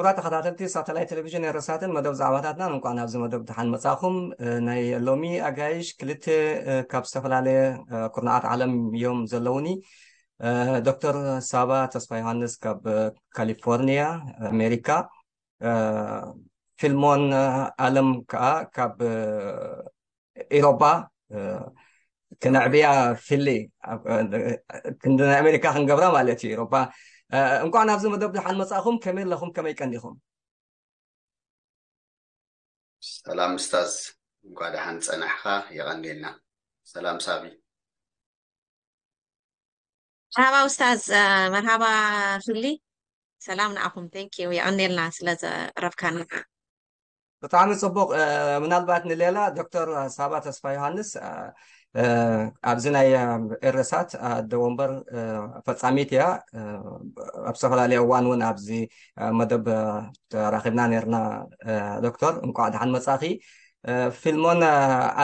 ክቡራት ተኸታተልቲ ሳተላይት ቴሌቪዥን ኤረሳትን መደብ ዛዕባታትናን፣ እንኳዕ ናብዚ መደብ ደሓን መጻኹም። እ፣ ናይ ሎሚ ኣጋይሽ ክልተ፣ እ፣ ካብ ዝተፈላለየ፣ እ፣ ኩርናዓት ዓለም እዮም ዘለውኒ። እ፣ ዶክተር ሳባ ተስፋ ዮሃንስ ካብ፣ እ፣ ካሊፎርኒያ ኣሜሪካ፣ እ፣ ፊልሞን፣ እ፣ ኣለም ከኣ ካብ፣ እ፣ ኢሮጳ፣ እ፣ ክነዕብያ ፊሊ ኣብ፣ እ፣ ክንዲ ናይ ኣሜሪካ ክንገብራ ማለት እዩ። ኢሮጳ፣ እ፣ እንኳዕ ናብዚ መደብ ደሓን መጻእኹም። ከመይ ኣለኹም? ከመይ ቀኒኹም? ሰላም እስታዝ፣ እንኳዕ ደሓን ጸናሕካ። የቐንየልና። ሰላም ሳቢ። መርሃባ ኡስታዝ። እ፣ መርሃባ ፊሊ። ሰላም ንዓኹም። Thank you፣ የቐንየልና ስለ ዘቕረብካና። ብጣዕሚ ጽቡቕ። እ፣ ምናልባት ንሌላ ዶክተር ሳባ ተስፋ ዮሃንስ፣ እ፣ እ፣ ኣብዚ ናይ፣ እ፣ ኤረሳት ኣደ ወንበር፣ እ፣ ፈጻሚት እያ። እ፣ ኣብ ዝተፈላለየ እዋን እውን ኣብዚ፣ እ፣ መደብ፣ እ፣ ተራኺብና ነርና። እ፣ ዶክተር፣ እንቋዕ ደሓን መጻኺ። እ፣ ፊልሞን፣ እ፣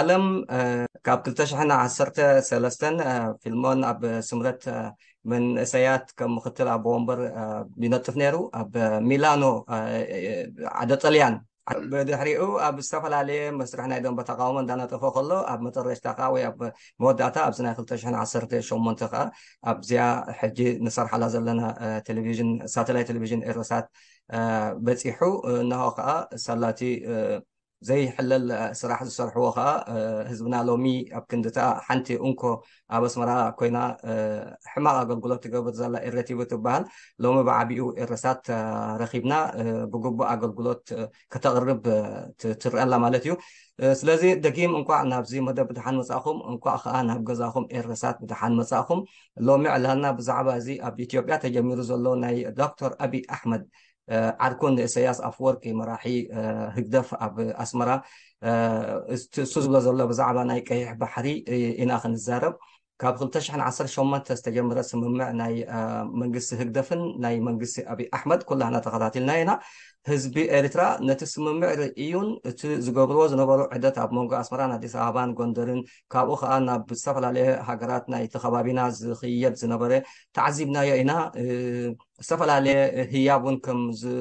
ኣለም፣ እ፣ ካብ ክልተ ሽሕን ዓሰርተ ሰለስተን፣ እ፣ ፊልሞን ኣብ ስምረት፣ እ፣ መንእሰያት ከም ምኽትል ኣቦ ወንበር፣ እ፣ ይነጥፍ ነይሩ። ኣብ ሚላኖ፣ እ፣ እ፣ ዓደ ጥልያን። ብድሕሪኡ ኣብ ዝተፈላለየ መስርሕ ናይ ደንበ ተቃውሞ እንዳነጠፈ ከሎ፣ ኣብ መጠረሽታ ከኣ ወይ ኣብ መወዳእታ ኣብዚ ናይ ክልተ ሽሕን ዓሰርተ ሸሞንተ ከኣ ኣብዚኣ ሕጂ ንሰርሓላ ዘለና፣ እ፣ ቴሌቪዥን፣ ሳተላይት ቴሌቪዥን ኤረሳት፣ እ፣ በጺሑ። እ፣ እነሆ ከኣ ሳላቲ፣ እ፣ ዘይሕለል፣ እ፣ ስራሕ ዝሰርሕዎ ከኣ፣ እ፣ ህዝብና ሎሚ ኣብ ክንድታ ሓንቲ እንኮ ኣብ ኣስመራ ኮይና፣ እ፣ ሕማቕ ኣገልግሎት ትገብር ዘላ ኤረ ቲቪ ትበሃል፣ ሎሚ ብዓቢኡ ኤረሳት፣ እ፣ ረኺብና፣ እ፣ ብግቡእ ኣገልግሎት፣ እ፣ ከተቕርብ፣ እ፣ ት-፣ ትረኣላ ማለት እዩ። እ፣ ስለዚ ደጊም እንቋዕ ናብዚ መደብ ብደሓን መጻእኹም፣ እንቋዕ ከኣ ናብ ገዛኹም ኤረሳት ብደሓን መጻእኹም። ሎሚ ዕላልና ብዛዕባ እዚ ኣብ ኢትዮጵያ ተጀሚሩ ዘሎ ናይ ዶክተር ኣቢይ ኣሕመድ፣ እ፣ ዓርኩ ንእሰያስ ኣፍወርቂ መራሒ፣ እ፣ ህግደፍ ኣብ ኣስመራ፣ እ፣ እስ-፣ እሱ ዝብሎ ዘሎ ብዛዕባ ናይ ቀይሕ ባሕሪ፣ እ፣ ኢና ክንዛረብ። ካብ ክልተ ሽሕን ዓሰርተ ሸሞንተ ዝተጀመረ ስምምዕ ናይ፣ እ፣ መንግስቲ ህግደፍን ናይ መንግስቲ ኣቢይ ኣሕመድ ኩላህና ተኸታቲልና ኢና። ህዝቢ ኤርትራ ነቲ ስምምዕ ርእዩን እቲ ዝገብርዎ ዝነበሩ ዕደት ኣብ መንጎ ኣስመራን ኣዲስ ኣበባን ጎንደርን፣ ካብኡ ከኣ ናብ ዝተፈላለየ ሃገራት ናይቲ ከባቢና ዝኽየድ ዝነበረ ተዓዚብናዮ ኢና። እ፣ ዝተፈላለየ ህያብ እውን ከም ዝ-፣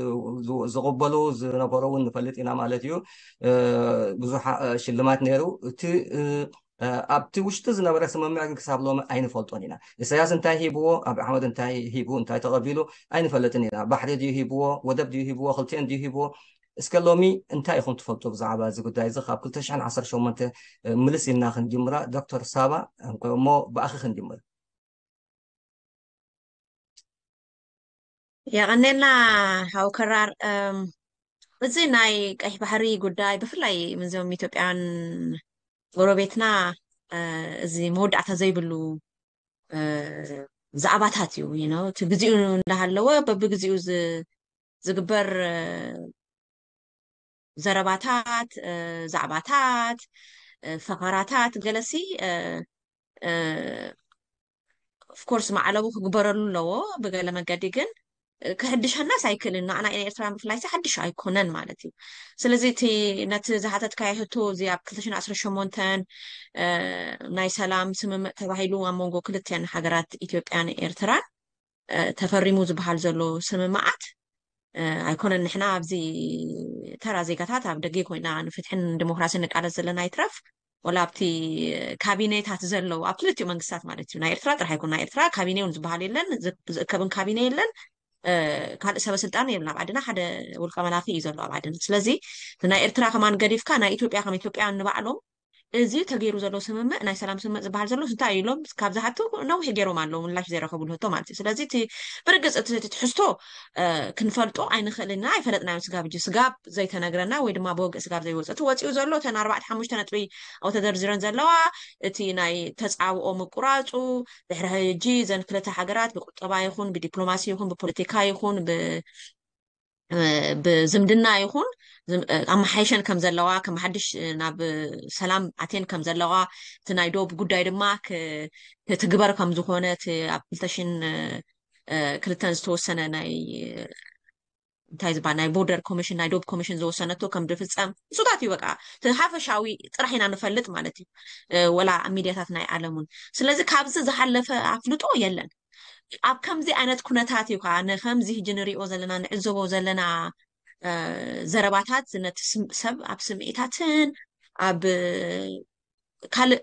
ዝ-፣ ዝቕበሉ ዝነበሩ እውን ንፈልጥ ኢና ማለት እዩ። እ፣ ብዙሕ፣ እ፣ ሽልማት ነይሩ። እቲ፣ እ፣ እ፣ ኣብቲ ውሽጢ ዝነበረ ስምምዕ ግን ክሳብ ሎሚ ኣይንፈልጦን ኢና። ኢሳያስ እንታይ ሂብዎ፣ ኣብ ኣሕመድ እንታይ ሂቡ፣ እንታይ ተቐቢሉ ኣይንፈልጥን ኢና። ባሕሪ ድዩ ሂብዎ፣ ወደብ ድዩ ሂብዎ፣ ክልቲኤን ድዩ ሂብዎ? እስከ ሎሚ እንታይ ኢኹም ትፈልጡ ብዛዕባ እዚ ጉዳይ እዚ? ካብ ክልተ ሽሕን ዓሰርተ ሸሞንተ፣ እ፣ ምልስ ኢልና ክንጅምራ። ዶክተር ሳባ፣ እሞ ብኣኺ ክንጅምር። የቐኔልና ሓው ከራር። እም፣ እዚ ናይ ቀይሕ ባሕሪ ጉዳይ ብፍላይ ምስዞም ኢትዮጵያን ጎረቤትና፣ እ፣ እዚ መወዳእታ ዘይብሉ፣ እ፣ ዛዕባታት እዩ። You know፣ እቲ ግዜኡ እንዳሃለወ በብግዜኡ ዝ-፣ ዝግበር፣ እ፣ ዘረባታት፣ እ፣ ዛዕባታት፣ እ፣ ፈኸራታት ገለሲ፣ እ፣ እ፣ of course ማዕለቡ ክግበረሉ ኣለዎ ብገለ መገዲ። ግን፣ እ፣ ክሕድሸናስ ኣይክእልን። ንዓና ንኤርትራ ብፍላይ ሓድሽ ኣይኮነን ማለት እዩ። ስለዚ እቲ ነቲ ዝሓተትካዮ ሕቶ፣ እዚ ኣብ ክልተ ሽሕን ዓሰርተ ሸሞንተን፣ እ፣ ናይ ሰላም ስምምዕ ተባሂሉ ኣብ መንጎ ክልቲኤን ሃገራት ኢትዮጵያን ኤርትራን፣ እ፣ ተፈሪሙ ዝበሃል ዘሎ ስምምዓት፣ እ፣ ኣይኮነን። ንሕና ኣብዚ ተራ ዜጋታት ኣብ ደገ ኮይና ንፍትሕን ዲሞክራሲን ንቃለስ ዘለና ይትረፍ፣ ወላ ኣብቲ ካቢኔታት ዘለዉ፣ ኣብ ክልቲኡ መንግስታት ማለት እዩ፣ ናይ ኤርትራ ጥራሕ ኣይኮን፣ ናይ ኤርትራ ካቢኔ እውን ዝበሃል የለን፣ ዝ-፣ ዝእከብን ካቢኔ የለን። እ፣ ካልእ ሰበ ስልጣን የብልና ኣብ ዓድና፣ ሓደ ውልቀ መላኺ እዩ ዘሎ ኣብ ዓድና። ስለዚ ናይ ኤርትራ ከማን ገዲፍካ፣ ናይ ኢትዮጵያ ከም ኢትዮጵያ ንባዕሎም፣ እዚ ተገይሩ ዘሎ ስምምዕ፣ ናይ ሰላም ስምምዕ ዝበሃል ዘሎ እንታይ እዩ ኢሎም ካብ ዝሓቱ ነዊሕ ገይሮም ኣለዉ ምላሽ ዘይረኸብሉ ሕቶ ማለት እዩ። ስለዚ እቲ ብርግጽ እቲ፣ እቲ ትሕዝቶ፣ እ፣ ክንፈልጦ ኣይንኽእልን ኢና፣ ኣይፈለጥናዮን። ስጋብ ሕጂ ስጋብ ዘይተነግረና ወይ ድማ ብወግዒ ስጋብ ዘይወጸ፣ እቲ ወጺኡ ዘሎ እተን ኣርባዕተ ሓሙሽተ ነጥቢ ኣብኡ ተደርዲረን ዘለዋ፣ እቲ ናይ ተጻብኦ ምቁራጹ፣ ድሕሪ ሕጂ እዘን ክልተ ሃገራት ብቁጠባ ይኹን ብዲፕሎማሲ ይኹን ብፖለቲካ ይኹን ብ-፣ እ፣ ብዝምድና ይኹን ዝም-፣ እ፣ ኣመሓይሸን ከም ዘለዋ፣ ከም ሓድሽ፣ እ፣ ናብ ሰላም ኣትየን ከም ዘለዋ፣ እቲ ናይ ዶብ ጉዳይ ድማ ክ-፣ ክትግበር ከም ዝኾነ፣ እቲ ኣብ ክልተ ሽሕን ክልተን ዝተወሰነ ናይ፣ እንታይ ዝበሃል፣ ናይ ቦርደር ኮሚሽን፣ ናይ ዶብ ኮሚሽን ዝወሰነቶ ከም ዝፍጸም፣ እሱታት እዩ በቃ። እቲ ሓፈሻዊ ጥራሕ ኢና ንፈልጥ ማለት እዩ፣ እ፣ ወላ ኣብ ሚድያታት ናይ ዓለም እውን። ስለዚ ካብዚ ዝሓለፈ ኣፍልጦ የለን። ኣብ ከምዚ ዓይነት ኩነታት እዩ ከዓ ንከምዚ ሕጂ ንሪኦ ዘለና፣ ንዕዘቦ ዘለና ዘረባታት ነቲ ሰብ ኣብ ስምዒታትን ኣብ ካልእ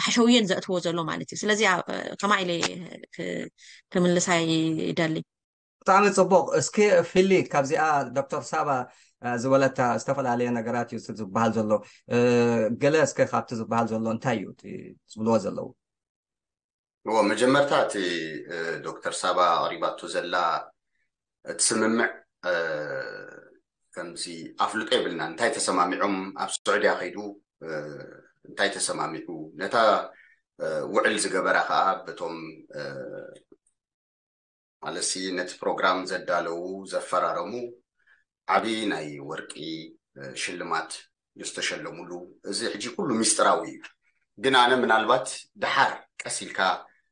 ሓሸውየን ዘእትዎ ዘሎ ማለት እዩ። ስለዚ ከማ ኢለ ክምልሳ ይደሊ። ብጣዕሚ ፅቡቕ። እስኪ ፊሊ ካብዚኣ ዶክተር ሳባ ዝበለታ ዝተፈላለየ ነገራት እዩ ዝበሃል ዘሎ፣ ገለ እስከ ካብቲ ዝበሃል ዘሎ እንታይ እዩ ዝብልዎ ዘለዉ? እዎ፣ መጀመርታ እቲ ዶክተር ሳባ ኣቕሪባቶ ዘላ እቲ ስምምዕ ከምዚ ኣፍልጦ የብልና። እንታይ ተሰማሚዖም ኣብ ስዑድያ ከይዱ እንታይ ተሰማሚዑ፣ ነታ ውዕል ዝገበራ ከዓ በቶም ማለትሲ ነቲ ፕሮግራም ዘዳለዉ ዘፈራረሙ ዓብዪ ናይ ወርቂ ሽልማት ዝተሸለሙሉ፣ እዚ ሕጂ ኩሉ ሚስጥራዊ እዩ። ግን ኣነ ምናልባት ደሓር ቀስ ኢልካ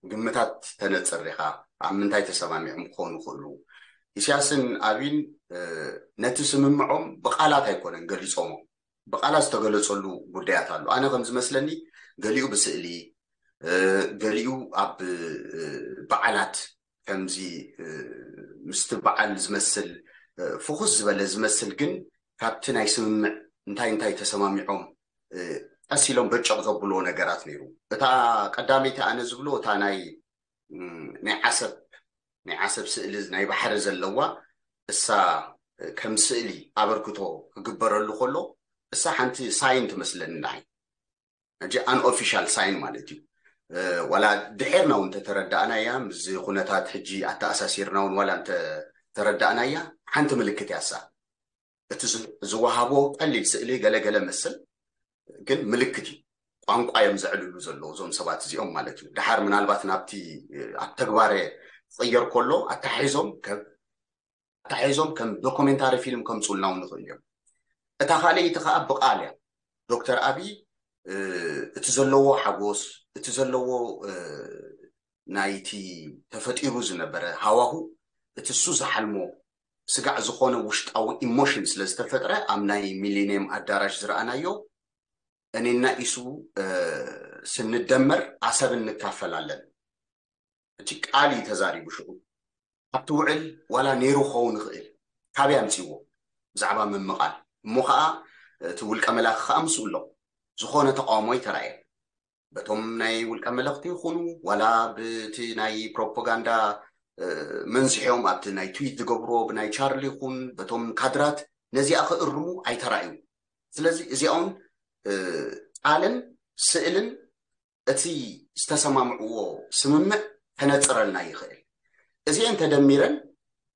ግምታት ተነፅር ኢኻ ኣብ ምንታይ ተሰማሚዖም ክኾኑ ይኽእሉ። ኢሳያስን ኣብይን ነቲ ስምምዖም ብቃላት ኣይኮነን ገሊፆሞ፣ ብቃላት ዝተገለፀሉ ጉዳያት ኣሎ። ኣነ ከም ዝመስለኒ ገሊኡ ብስእሊ፣ ገሊኡ ኣብ በዓላት ከምዚ ምስቲ በዓል ዝመስል ፍኹስ ዝበለ ዝመስል፣ ግን ካብቲ ናይ ስምምዕ እንታይ እንታይ ተሰማሚዖም ቀስ ኢሎም በጨቕ ዘብልዎ ነገራት ነይሩ። እታ ቀዳመይቲ ኣነ ዝብሎ እታ ናይ ናይ ዓሰብ ናይ ዓሰብ ስእሊ ናይ ባሕሪ ዘለዋ እሳ ከም ስእሊ ኣበርክቶ ክግበረሉ ከሎ እሳ ሓንቲ ሳይን ትመስለኒ ንዓይ። ሕጂ ኣን ኦፊሻል ሳይን ማለት እዩ። ዋላ ድሕርና እውን ተተረዳእናያ፣ ምስዚ ኩነታት ሕጂ ኣተኣሳሲርና እውን ዋላ እንተተረዳእናያ ሓንቲ ምልክት ያሳ እቲ ዝወሃቦ ቀሊል ስእሊ ገለገለ መስል ግን ምልክት እዩ። ቋንቋ እዮም ዘዕልሉ ዘለዉ እዞም ሰባት እዚኦም ማለት እዩ። ድሓር ምናልባት ናብቲ ኣብ ተግባረ ክቕየር ከሎ ኣተሓሒዞም ኣተሓሒዞም ከም ዶኩሜንታሪ ፊልም ከምፅኡልና እውን ንኽእል እዮም። እታ ካልኣይቲ ከዓ ብቃል እያ። ዶክተር ኣብይ እቲ ዘለዎ ሓጎስ፣ እቲ ዘለዎ ናይቲ ተፈጢሩ ዝነበረ ሃዋሁ፣ እቲ እሱ ዝሓልሞ ስጋዕ ዝኾነ ውሽጣዊ ኢሞሽን ስለ ዝተፈጥረ ኣብ ናይ ሚሊኒየም ኣዳራሽ ዝረኣናዮ እኔና ኢሱ ስንደመር ዓሰብ እንካፈላለን እቲ ቃል እዩ ተዛሪቡ። ሽዑ ኣብቲ ውዕል ዋላ ነይሩ ክኸውን ይኽእል፣ ካበይ ኣምፅዎ ብዛዕባ ምምቓል እሞ ከዓ እቲ ውልቀ መላኺ ከዓ ምስኡ ኣሎ። ዝኾነ ተቃውሞ ኣይተራእየን። በቶም ናይ ውልቀ መለኽቲ ይኹኑ ዋላ ብቲ ናይ ፕሮፓጋንዳ መንዝሖም ኣብቲ ናይ ትዊት ዝገብርዎ ብናይ ቻርሊ ይኹን በቶም ካድራት ነዚኣ ክእርሙ ኣይተራእዩ። ስለዚ እዚኣውን ቃልን ስእልን እቲ ዝተሰማምዕዎ ስምምዕ ከነፅረልና ይኽእል። እዚአን ተደሚረን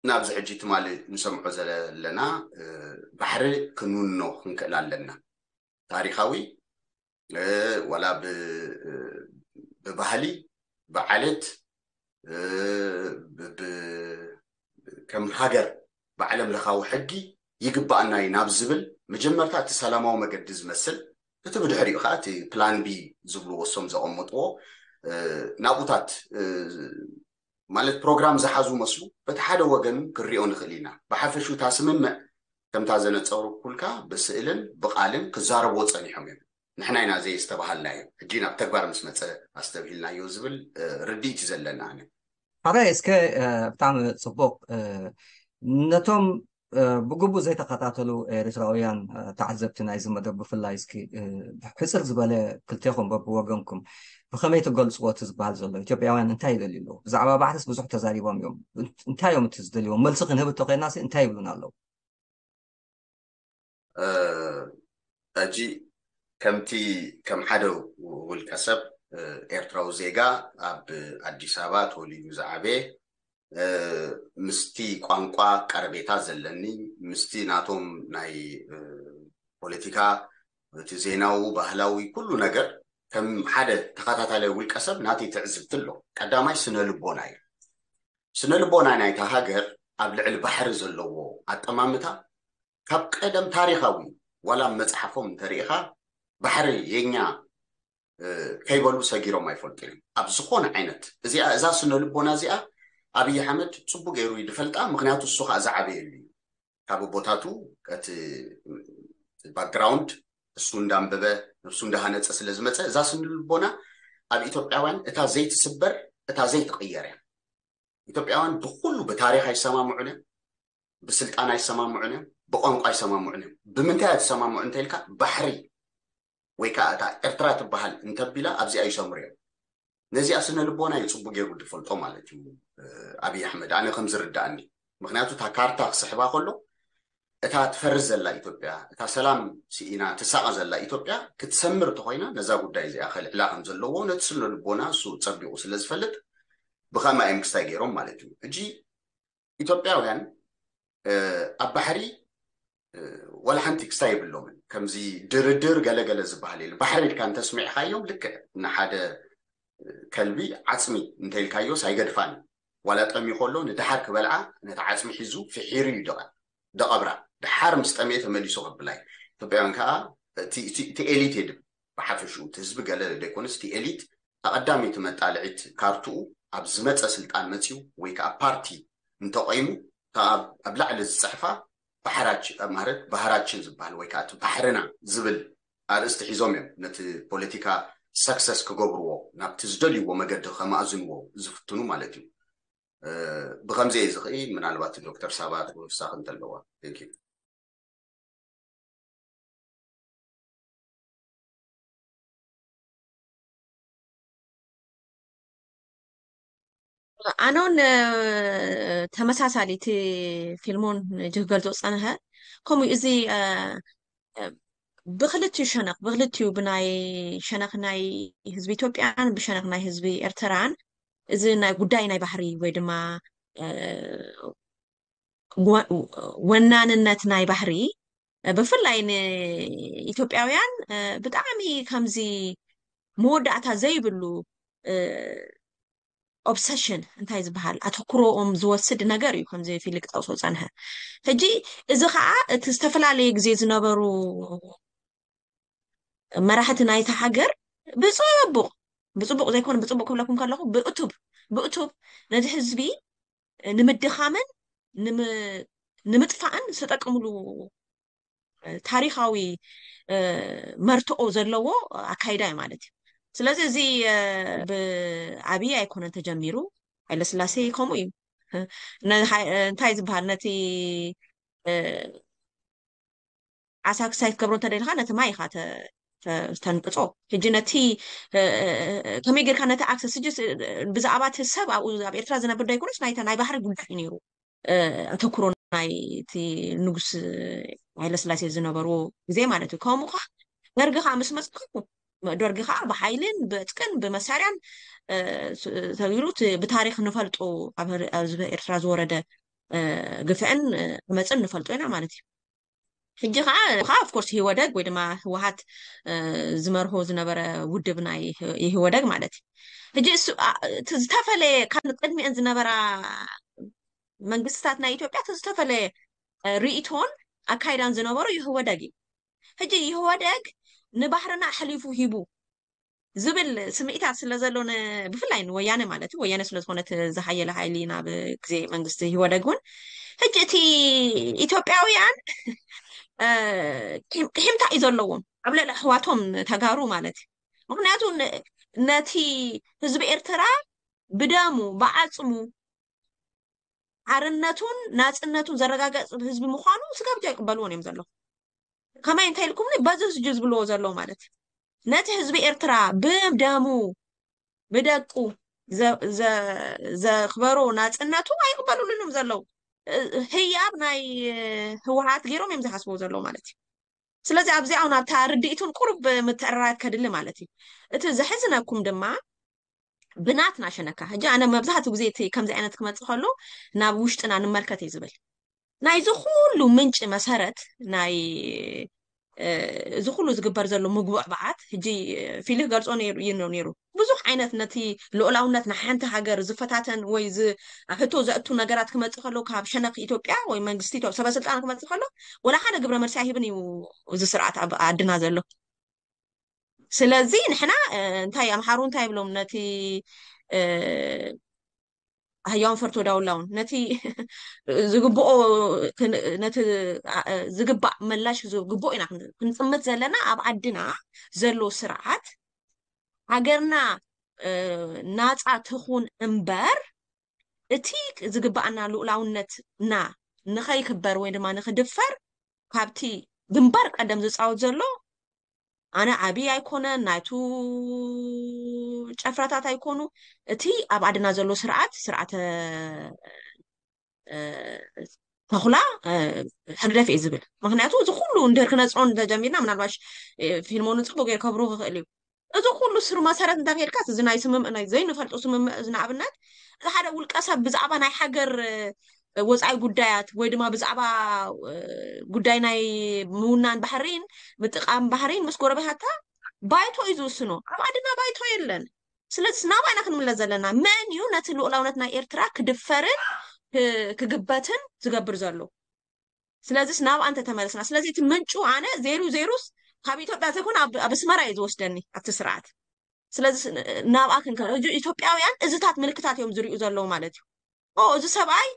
ናብዚ ሕጂ ትማሊ ንሰምዖ ዘለና ባሕሪ ክንውንኖ ክንክእል ኣለና። ታሪኻዊ ዋላ ብባህሊ ብዓለት ከም ሃገር ብዓለም ለኻዊ ሕጊ ይግባኣና እዩ ናብ ዝብል መጀመርታ እቲ ሰላማዊ መገዲ ዝመስል እቲ ብድሕሪኡ ከዓ እቲ ፕላን ቢ ዝብልዎ እሶም ዘቐመጥዎ ናብኡታት ማለት ፕሮግራም ዝሓዙ መስሉ በቲ ሓደ ወገን ክንሪኦ ንኽእል ኢና። ብሓፈሹ እታ ስምምዕ ከምታ ዘነፀርኩልካ ብስእልን ብቃልን ክዛረብዎ ፀኒሖም እዮም። ንሕና ኢና ዘየስተባሃልናዮ፣ ሕጂ ናብ ተግባር ምስ መፀ ኣስተብሂልናዮ ዝብል ርድኢት እዩ ዘለና። ኣነ ሓራይ እስከ ብጣዕሚ ፅቡቅ ነቶም ብግቡእ ዘይተኸታተሉ ኤርትራውያን ተዓዘብቲ ናይዚ መደብ ብፍላይ እስኪ ሕፅር ዝበለ ክልቴኹም በብወገንኩም ብኸመይ ትገልፅዎ እቲ ዝበሃል ዘሎ ኢትዮጵያውያን እንታይ ይደልዩ ኣለዉ? ብዛዕባ ባሕርስ ብዙሕ ተዛሪቦም እዮም። እንታይ እዮም እቲ ዝደልይዎም? መልሲ ክንህብ እተኮይናሲ እንታይ ይብሉና ኣለዉ? ሕጂ ከምቲ ከም ሓደ ውልቀ ሰብ ኤርትራዊ ዜጋ ኣብ ኣዲስ ኣበባ ተወሊዱ ዝዓበየ ምስቲ ቋንቋ ቀረቤታ ዘለኒ ምስቲ ናቶም ናይ ፖለቲካ እቲ ዜናዊ ባህላዊ ኩሉ ነገር ከም ሓደ ተኸታታላይ ውልቀ ሰብ ናተይ ትዕዝብቲ ኣሎ። ቀዳማይ ስነ ልቦና እዩ። ስነ ልቦና ናይታ ሃገር ኣብ ልዕሊ ባሕሪ ዘለዎ ኣጠማምታ ካብ ቀደም ታሪኻዊ ዋላ መፅሓፎም እንተሪኢኻ ባሕሪ የኛ ከይበሉ ሰጊሮም ኣይፈልጡ እዮም። ኣብ ዝኾነ ዓይነት እዚኣ እዛ ስነ ልቦና እዚኣ ኣብይ ኣሕመድ ፅቡቅ ገይሩ እዩ ዝፈልጣ። ምክንያቱ እሱ ከዓ ዝዓበየሉ እዩ ካብ ቦታቱ እቲ ባክግራውንድ እሱ እንዳንበበ ነብሱ እንዳሃነፀ ስለ ዝመፀ እዛ ስነ ልቦና ኣብ ኢትዮጵያውያን እታ ዘይትስበር እታ ዘይትቅየር እያ። ኢትዮጵያውያን ብኩሉ ብታሪክ ኣይሰማምዑን እዮም፣ ብስልጣን ኣይሰማምዑን እዮም፣ ብቋንቋ ኣይሰማምዑን እዮም። ብምንታይ እያ ትሰማምዑ እንተኢልካ፣ ባሕሪ ወይ ከዓ እታ ኤርትራ ትበሃል እንተቢላ ኣብዚኣ ይሰምሩ እዮም። ነዚኣ ስነ ልቦና እዩ ጽቡቅ ገይሩ ዝፈልጦ ማለት እዩ፣ እ፣ ኣብይ ኣሕመድ፣ ኣነ ከም ዝርዳእኒ። ምክንያቱ እታ ካርታ ክስሕባ ከሎ፣ እታ ትፈርስ ዘላ ኢትዮጵያ፣ እታ ሰላም ስኢና ትሳቐ ዘላ ኢትዮጵያ ክትሰምር እንተኾይና፣ ነዛ ጉዳይ እዚኣ ከልዕላ ከም ዘለዎ ነቲ ስነ ልቦና እሱ ጸቢቑ ስለ ዝፈልጥ፣ ብኸማ እዮም ክስታይ ገይሮም ማለት እዩ። ሕጂ ኢትዮጵያውያን፣ እ፣ ኣብ ባሕሪ፣ እ፣ ዋላ ሓንቲ ክስታይ የብሎምን። ከምዚ ድርድር ገለገለ ዝበሃል የለ። ባሕሪ ኢልካ እንተስሚዕኻዮም፣ ልክዕ ንሓደ ከልቢ ዓጽሚ እንተኢልካዮስ ኣይገድፋን እዩ። ዋላ ጠምዩ ከሎ ንደሓር ክበልዓ ነቲ ዓጽሚ ሒዙ ፍሒሩ እዩ ደቐ-፣ ደቐብራ። ደሓር ምስ ጠምየ ተመሊሱ ከብላ እዩ። ኢትዮጵያውያን ከኣ እቲ፣ እቲ፣ እቲ ኤሊት የድም ብሓፈሽኡ፣ እቲ ህዝቢ ገለ ዘይኮነስ እቲ ኤሊት ኣቐዳመይቲ መጣልዒት ካርትኡ ኣብ ዝመጸ ስልጣን መጺኡ ወይ ከኣ ፓርቲ እንተቆይሙ፣ እታ ኣብ፣ ኣብ ላዕሊ ዝጽሕፋ ባሕራች-፣ ማለት ባህራችን ዝበሃል ወይ ከኣ እቲ ባሕርና ዝብል ኣርእስቲ ሒዞም እዮም ነቲ ፖለቲካ ሰክሰስ ክገብርዎ፣ ናብቲ ዝደልይዎ መገዲ ከማእዝንዎ ዝፍትኑ ማለት እዩ። እ፣ ብኸምዚ እየ ዝኽኢ፣ ምናልባት ዶክተር ሳባ ተወሳኺ እንተለዋ። Thank you። ኣነ እውን፣ እ፣ ተመሳሳሊ እቲ ፊልሞን ሕጂ ክገልጾ ዝጸንሐ፣ ከምኡ እዚ፣ እ፣ እ፣ ብክልቲኡ ሸነኽ፣ ብክልቲኡ ብናይ ሸነኽ ናይ ህዝቢ ኢትዮጵያን ብሸነኽ ናይ ህዝቢ ኤርትራን እዚ ናይ ጉዳይ ናይ ባህሪ ወይ ድማ፣ እ፣ ወ-፣ ወናንነት ናይ ባህሪ፣ እ፣ ብፍላይ ንኢትዮጵያውያን፣ እ፣ ብጣዕሚ ከምዚ መወዳእታ ዘይብሉ፣ እ፣ ኦብሰሽን እንታይ ዝበሃል ኣተኩሮኦም ዝወስድ ነገር እዩ፣ ከምዚ ፊሊ ክጠቕሶ ዝጸንሐ። ሕጂ እዚ ኸኣ እቲ ዝተፈላለየ ግዜ ዝነበሩ መራሕቲ ናይታ ሃገር ብጽቡቕ፣ ብጽቡቕ ዘይኮነ ብጽቡቕ ክብለኩም ከለኹ ብእቱብ፣ ብእቱብ ነቲ ህዝቢ ንምድኻምን ንም-፣ ንምጥፋእን ዝተጠቀምሉ ታሪኻዊ፣ እ፣ መርትኦ ዘለዎ ኣካይዳ እዩ ማለት እዩ። ስለዚ እዚ፣ እ፣ ብኣብይ ኣይኮነን ተጀሚሩ፣ ሃይለስላሴ ከምኡ እዩ። ነ-፣ ሃይ-፣ እንታይ ዝበሃል ነቲ፣ እ፣ ዓሳ ክሳይ ክትገብሮ እንተደሊኻ ነቲ ማይ ኢኻ ተ-፣ ተ-፣ ተንቅጾ። ሕጂ ነቲ፣ እ፣ እ፣ እ፣ ከመይ ጌርካ ነቲ ኣክሰስ፣ ሕጂ ስ-፣ ብዛዕባ እቲ ሰብ ኣብኡ ኣብ ኤርትራ ዝነብር ዶ ኣይኮነስ ናይታ ናይ ባሕሪ ጉዳይ እዩ ነይሩ። እ፣ ኣተኩሮ ናይ እቲ ንጉስ ሃይለስላሴ ዝነበርዎ ግዜ ማለት እዩ። ከምኡ ከኣ ደርጊ ከኣ ምስ መጽኩም፣ ደርጊ ከኣ ብሓይልን ብዕጥቅን ብመሳርያን፣ እ፣ ስ-፣ ተቢሉ እቲ ብታሪኽ ንፈልጦ ኣብ ህር-፣ ኣብ ህዝቢ ኤርትራ ዝወረደ፣ እ፣ ግፍዕን፣ እ፣ ዓመጽን ንፈልጦ ኢና ማለት እዩ። ሕጂ ከኣ፣ ከኣ ኦፍ ኮርስ ህወደግ ወይ ድማ ህወሓት፣ እ፣ ዝመርሆ ዝነበረ ውድብ ናይ ህ-፣ የህወደግ ማለት እዩ። ሕጂ እሱ፣ ኣ፣ እቲ ዝተፈለየ ካብ ቅድሚአን ዝነበራ መንግስትታት ናይ ኢትዮጵያ እቲ ዝተፈለየ፣ እ፣ ርእይቶን ኣካይዳን ዝነበሮ ይህወደግ እዩ። ሕጂ ይህወደግ ንባህርና ኣሕሊፉ ሂቡ ዝብል ስምዒታት ስለ ዘሎ ን-፣ ብፍላይ ንወያነ ማለት እዩ፣ ወያነ ስለ ዝኾነት ዝሓየለ ሓይሊ ናብ ግዜ መንግስቲ ይህወደግ እውን። ሕጂ እቲ ኢትዮጵያውያን፣ እ፣ ቂም-፣ ቂምታ እዩ ዘለዎም ኣብ ልዕሊ ኣሕዋቶም ተጋሩ ማለት እዩ። ምኽንያቱ ን-፣ ነቲ ህዝቢ ኤርትራ ብደሙ ብዓጽሙ ሓርነቱን ናጽነቱን ዘረጋገጽ ህዝቢ ምዃኑ ስጋብ ሕጂ ኣይቅበልዎን እዮም ዘለዉ። ከመይ እንታይ ኢልኩምኒ? በዚ ህዝቢ ዝብልዎ ዘለዉ ማለት እዩ። ነቲ ህዝቢ ኤርትራ ብደሙ ብደቁ ዘ-፣ ዘ-፣ ዘኽበሮ ናጽነቱ ኣይቅበሉሉን እዮም ዘለዉ። እ-፣ ህያብ ናይ ህወሓት ገይሮም እዮም ዝሓስብዎ ዘለዉ ማለት እዩ። ስለዚ ኣብዚኣ እውን ኣብታ ርድኢቱን ቁሩብ ምትዕርራይ ከድሊ ማለት እዩ። እቲ ዘሕዝነኩም ድማ ብናትና ሸነካ፣ ሕጂ ኣነ መብዛሕትኡ ግዜ እቲ ከምዚ ዓይነት ክመጽእ ከሎ ናብ ውሽጥና ንመልከት እየ ዝብል። ናይዚ ኩሉ ምንጪ መሰረት ናይ፣ እ፣ እዚ ኩሉ ዝግበር ዘሎ ምጉብዕባዓት፣ ሕጂ ፊሊ ክገልጾ ነይሩ፣ እዩ ነይሩ። ብዙሕ ዓይነት ነቲ ልኡላውነት ናይ ሓንቲ ሃገር ዝፈታተን ወይ ዝ-፣ ኣብ ሕቶ ዘእቱ ነገራት ክመጽእ ከሎ ካብ ሸነኽ ኢትዮጵያ ወይ መንግስቲ ኢትዮ-፣ ሰበ ስልጣን ክመጽእ ከሎ ወላ ሓደ ግብረ መልሲ ኣይህብን እዩ እዚ ስርዓት ኣብ ዓድና ዘሎ። ስለዚ ንሕና፣ እ፣ እንታይ ኣምሓሩ እንታይ ይብሎም ነቲ፣ እ፣ ኣህያውን ፈርቶ ዳውላውን ነቲ ዝግብኦ ክን-፣ ነቲ፣ እ፣ ዝግባእ ምላሽ ዝግብኦ ኢና ክን-፣ ክንጥምት ዘለና ኣብ ዓድና ዘሎ ስርዓት ሃገርና፣ እ፣ ናጻ ትኹን እምበር እቲ ዝግባኣና ልኡላውነትና ንኸይክበር ወይ ድማ ንኽድፈር ካብቲ ግንባር ቀደም ዝፃወት ዘሎ ኣነ ዓብዪ ኣይኮነ ናይቱ ጨፍራታት ኣይኮኑ እቲ ኣብ ዓድና ዘሎ ስርዓት ስርዓተ ተኹላ ሕግደፍ እዩ ዝብል። ምክንያቱ እዚ ኩሉ እንድር ክነፅሮ እንተጀሚርና ምናልባሽ ፊልሞኑ ፅቡቅ ገይር ከብሩ ክኽእል እዩ። እዚ ኩሉ ስሩ መሰረት እንታይ ከይድካስ እዚ ናይ ስምምዕ ናይ ዘይንፈልጦ ስምምዕ እዚ ንኣብነት እዚ ሓደ ውልቀ ሰብ ብዛዕባ ናይ ሃገር ወፃኢ ጉዳያት ወይ ድማ ብዛዕባ ጉዳይ ናይ ምውናን ባህሪን ምጥቃም ባህሪን ምስ ጎረቤታታ ባይቶ እዩ ዝውስኖ። ኣብ ዓድና ባይቶ የለን። ስለዚ ናባና ክንምለስ ዘለና መን እዩ ነቲ ልኡላውነት ናይ ኤርትራ ክድፈርን ክግበትን ዝገብር ዘሎ? ስለዚስ ናብኣ እንተተመለስና ስለዚ እቲ ምንጩ ኣነ ዜሩ ዜሩስ ካብ ኢትዮጵያ ዘይኮነ ኣብ ኣስመራ እዩ ዝወስደኒ ኣብቲ ስርዓት። ስለዚ ናብኣ ክንከ ኢትዮጵያውያን እዚታት ምልክታት እዮም ዝሪኡ ዘለዉ ማለት እዩ። እዚ ሰብኣይ